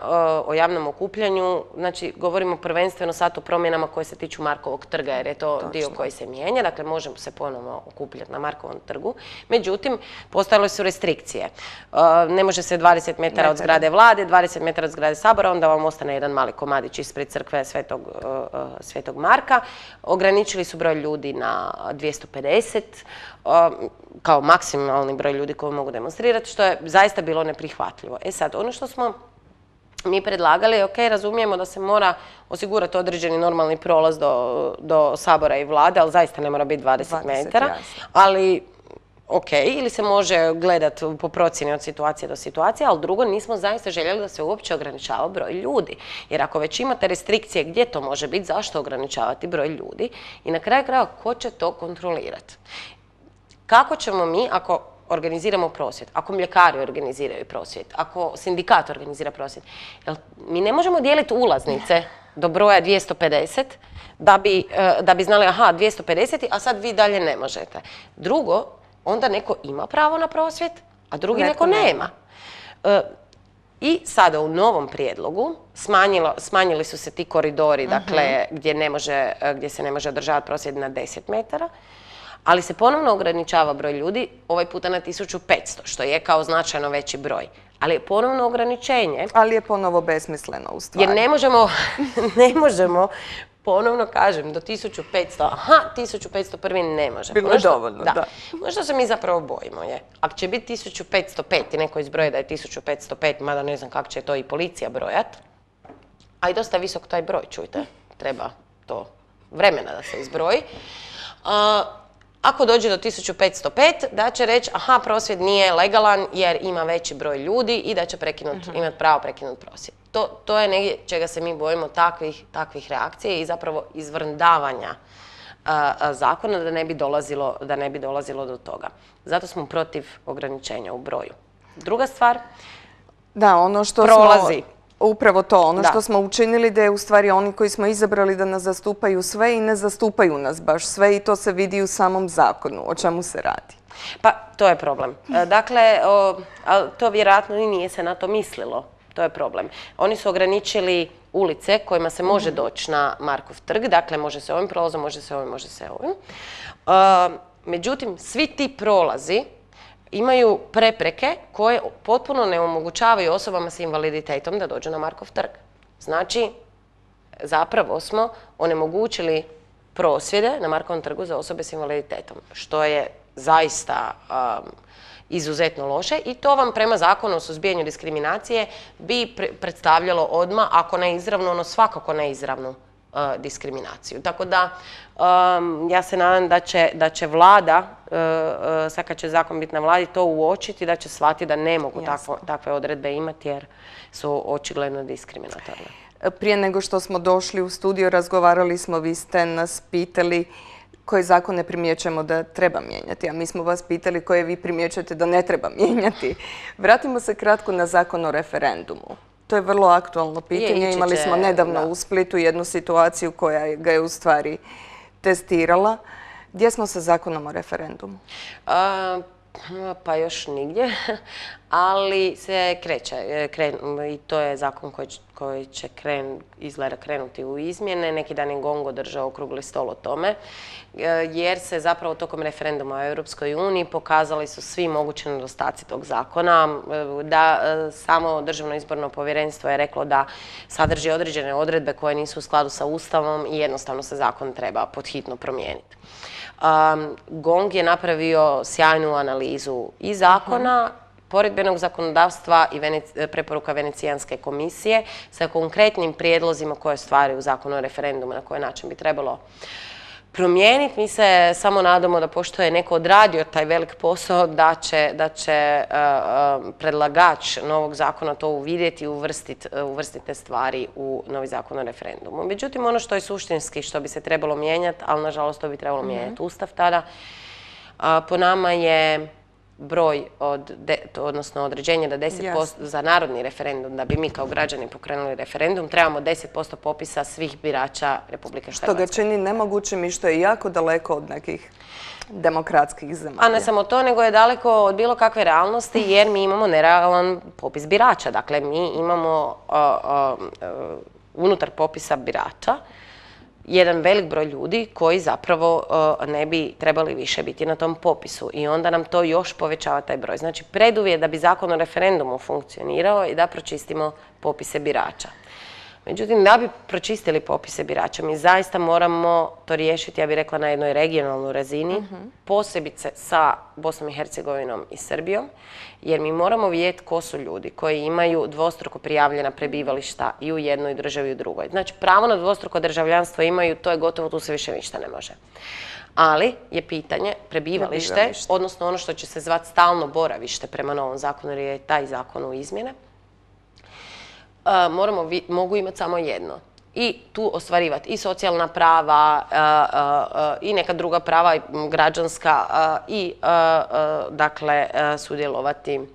Speaker 3: o javnom okupljanju, znači govorimo prvenstveno sad o promjenama koje se tiču Markovog trga, jer je to dio koji se mijenja, dakle možemo se ponovno okupljati na Markovom trgu. Međutim, postojale su restrikcije. Ne može se dvadeset metara od zgrade Vlade, dvadeset metara od zgrade Sabora, onda vam ostane jedan mali komadić ispred crkve Svetog Marka. Ograničili su broj ljudi na dvjesto pedeset, kao maksimalni broj ljudi koji mogu demonstrirati, što je zaista bilo neprihvatljivo. E sad, ono što smo mi predlagali, ok, razumijemo da se mora osigurati određeni normalni prolaz do, do Sabora i Vlade, ali zaista ne mora biti dvadeset metara, ali ok, ili se može gledati po procjeni od situacije do situacije, ali drugo, nismo zaista željeli da se uopće ograničava broj ljudi. Jer ako već imate restrikcije gdje to može biti, zašto ograničavati broj ljudi? I na kraju krajeva, ko će to kontrolirati? Kako ćemo mi, ako organiziramo prosvjed, ako mljekari organiziraju prosvjed, ako sindikat organizira prosvjed, jel mi ne možemo dijeliti ulaznice do broja dvjesto pedeset da bi, da bi znali, aha, dvjesto pedeset, a sad vi dalje ne možete. Drugo, onda neko ima pravo na prosvjed, a drugi neko nema. I sada u novom prijedlogu smanjili su se ti koridori, dakle, gdje ne može, gdje se ne može održavati prosvjed na deset metara, ali se ponovno ograničava broj ljudi, ovaj puta na tisuću petsto, što je kao značajno veći broj. Ali je ponovno ograničenje.
Speaker 2: Ali je ponovo besmisleno u stvari.
Speaker 3: Jer ne možemo, ne možemo, ponovno kažem, do tisuću petsto, aha, tisuću petsto prvi ne može.
Speaker 2: Bilo je dovoljno, da.
Speaker 3: Ono što se mi zapravo bojimo je, ako će biti tisuću petsto pet i neko izbroji da je tisuću petsto pet, mada ne znam kako će to i policija brojat, a i dosta visok taj broj, čujte, treba to vremena da se izbroji. Ako dođe do tisuću petsto pet, da će reći, aha, prosvjed nije legalan jer ima veći broj ljudi i da će imati pravo prekinuti prosvjed. To, to je negdje čega se mi bojimo, takvih, takvih reakcija i zapravo izvrndavanja a, a, zakona da ne bi dolazilo, da ne bi dolazilo do toga. Zato smo protiv ograničenja u broju. Druga stvar,
Speaker 2: da, ono što
Speaker 3: prolazi.
Speaker 2: Smo... Upravo to, ono što smo učinili da je u stvari oni koji smo izabrali da nas zastupaju sve i ne zastupaju nas baš sve i to se vidi u samom zakonu. O čemu se radi?
Speaker 3: Pa, to je problem. Dakle, to vjerojatno i nije se na to mislilo. To je problem. Oni su ograničili ulice kojima se može doći na Markov trg. Dakle, može se ovim prolazom, može se ovim, može se ovim. Međutim, svi ti prolazi imaju prepreke koje potpuno ne omogućavaju osobama s invaliditetom da dođu na Markov trg. Znači, zapravo smo onemogućili prosvjede na Markovom trgu za osobe s invaliditetom, što je zaista um, izuzetno loše i to vam prema zakonu o suzbijanju diskriminacije bi predstavljalo odmah, ako ne izravno, ono svakako ne izravnu diskriminaciju. Tako da ja se nadam da će, da će vlada, sad kad će zakon biti na vladi, to uočiti, da će shvatiti da ne mogu takvo, takve odredbe imati jer su očigledno diskriminatorne.
Speaker 2: Prije nego što smo došli u studio, razgovarali smo, vi ste nas pitali koje zakone primjećujemo da treba mijenjati, a mi smo vas pitali koje vi primjećujete da ne treba mijenjati. Vratimo se kratko na zakon o referendumu. To je vrlo aktualno pitanje. Imali smo nedavno u Splitu jednu situaciju koja ga je u stvari testirala. Gdje smo sa zakonom o referendumu?
Speaker 3: Pa još nigdje, ali se kreće i to je zakon koji će izgleda krenuti u izmjene. Neki dan je GONG održao okrugli stol o tome, jer se zapravo tokom referenduma u Europskoj uniji pokazali su svi mogući nedostaci tog zakona, da samo Državno izborno povjerenstvo je reklo da sadrži određene odredbe koje nisu u skladu sa Ustavom i jednostavno se zakon treba podhitno promijeniti. Um, GONG je napravio sjajnu analizu i zakona, poredbenog zakonodavstva i Venec- preporuka Venecijanske komisije sa konkretnim prijedlozima koje stvari u zakonu o referendumu na koji način bi trebalo promijeniti. Mi se samo nadamo da pošto je neko odradio taj velik posao, da će, da će uh, uh, predlagač novog zakona to uvidjeti i uvrstiti uvrstiti te stvari u novi zakon o referendumu. Međutim, ono što je suštinski, što bi se trebalo mijenjati, ali nažalost to bi trebalo mm-hmm. mijenjati Ustav tada, uh, po nama je broj, od de, odnosno određenje da deset posto yes. za narodni referendum, da bi mi kao građani pokrenuli referendum, trebamo deset posto popisa svih birača Republike Hrvatske.
Speaker 2: Što ga čini nemogućim i što je jako daleko od nekih demokratskih zemalja.
Speaker 3: A ne samo to, nego je daleko od bilo kakve realnosti jer mi imamo nerealan popis birača. Dakle, mi imamo uh, uh, uh, unutar popisa birača jedan velik broj ljudi koji zapravo uh, ne bi trebali više biti na tom popisu i onda nam to još povećava taj broj. Znači, preduvjet da bi zakon o referendumu funkcionirao i da pročistimo popise birača. Međutim, da bi pročistili popise birača, mi zaista moramo to riješiti, ja bih rekla, na jednoj regionalnoj razini, uh-huh. posebice sa Bosnom i Hercegovinom i Srbijom, jer mi moramo vidjeti ko su ljudi koji imaju dvostruko prijavljena prebivališta i u jednoj državi i u drugoj. Znači, pravo na dvostruko državljanstvo imaju, to je gotovo, tu se više ništa ne može. Ali je pitanje prebivalište, prebivalište. odnosno ono što će se zvati stalno boravište prema novom zakonu, jer je taj zakon u izmjene. Uh, moramo, vi, mogu imati samo jedno i tu ostvarivati i socijalna prava uh, uh, uh, i neka druga prava građanska uh, i uh, uh, dakle uh, sudjelovati, uh,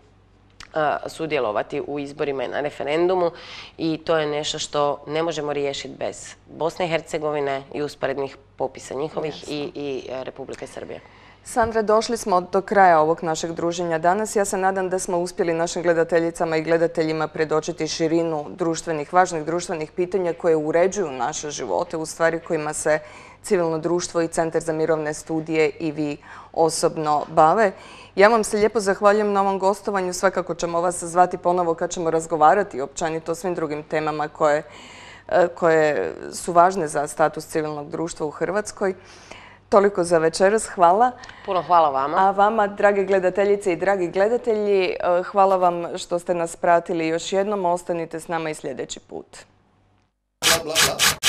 Speaker 3: sudjelovati u izborima i na referendumu i to je nešto što ne možemo riješiti bez Bosne i Hercegovine i usporednih popisa njihovih i, i uh, Republike Srbije.
Speaker 2: Sandra, došli smo do kraja ovog našeg druženja danas. Ja se nadam da smo uspjeli našim gledateljicama i gledateljima predočiti širinu društvenih, važnih društvenih pitanja koje uređuju naše živote, u stvari kojima se civilno društvo i Centar za mirovne studije i vi osobno bave. Ja vam se lijepo zahvaljujem na ovom gostovanju. Svakako ćemo vas zvati ponovo kad ćemo razgovarati općenito o svim drugim temama koje, koje su važne za status civilnog društva u Hrvatskoj. Toliko za večeras. Hvala.
Speaker 3: Puno hvala vama.
Speaker 2: A vama, drage gledateljice i dragi gledatelji, hvala vam što ste nas pratili još jednom. Ostanite s nama i sljedeći put.
Speaker 1: Bla, bla, bla.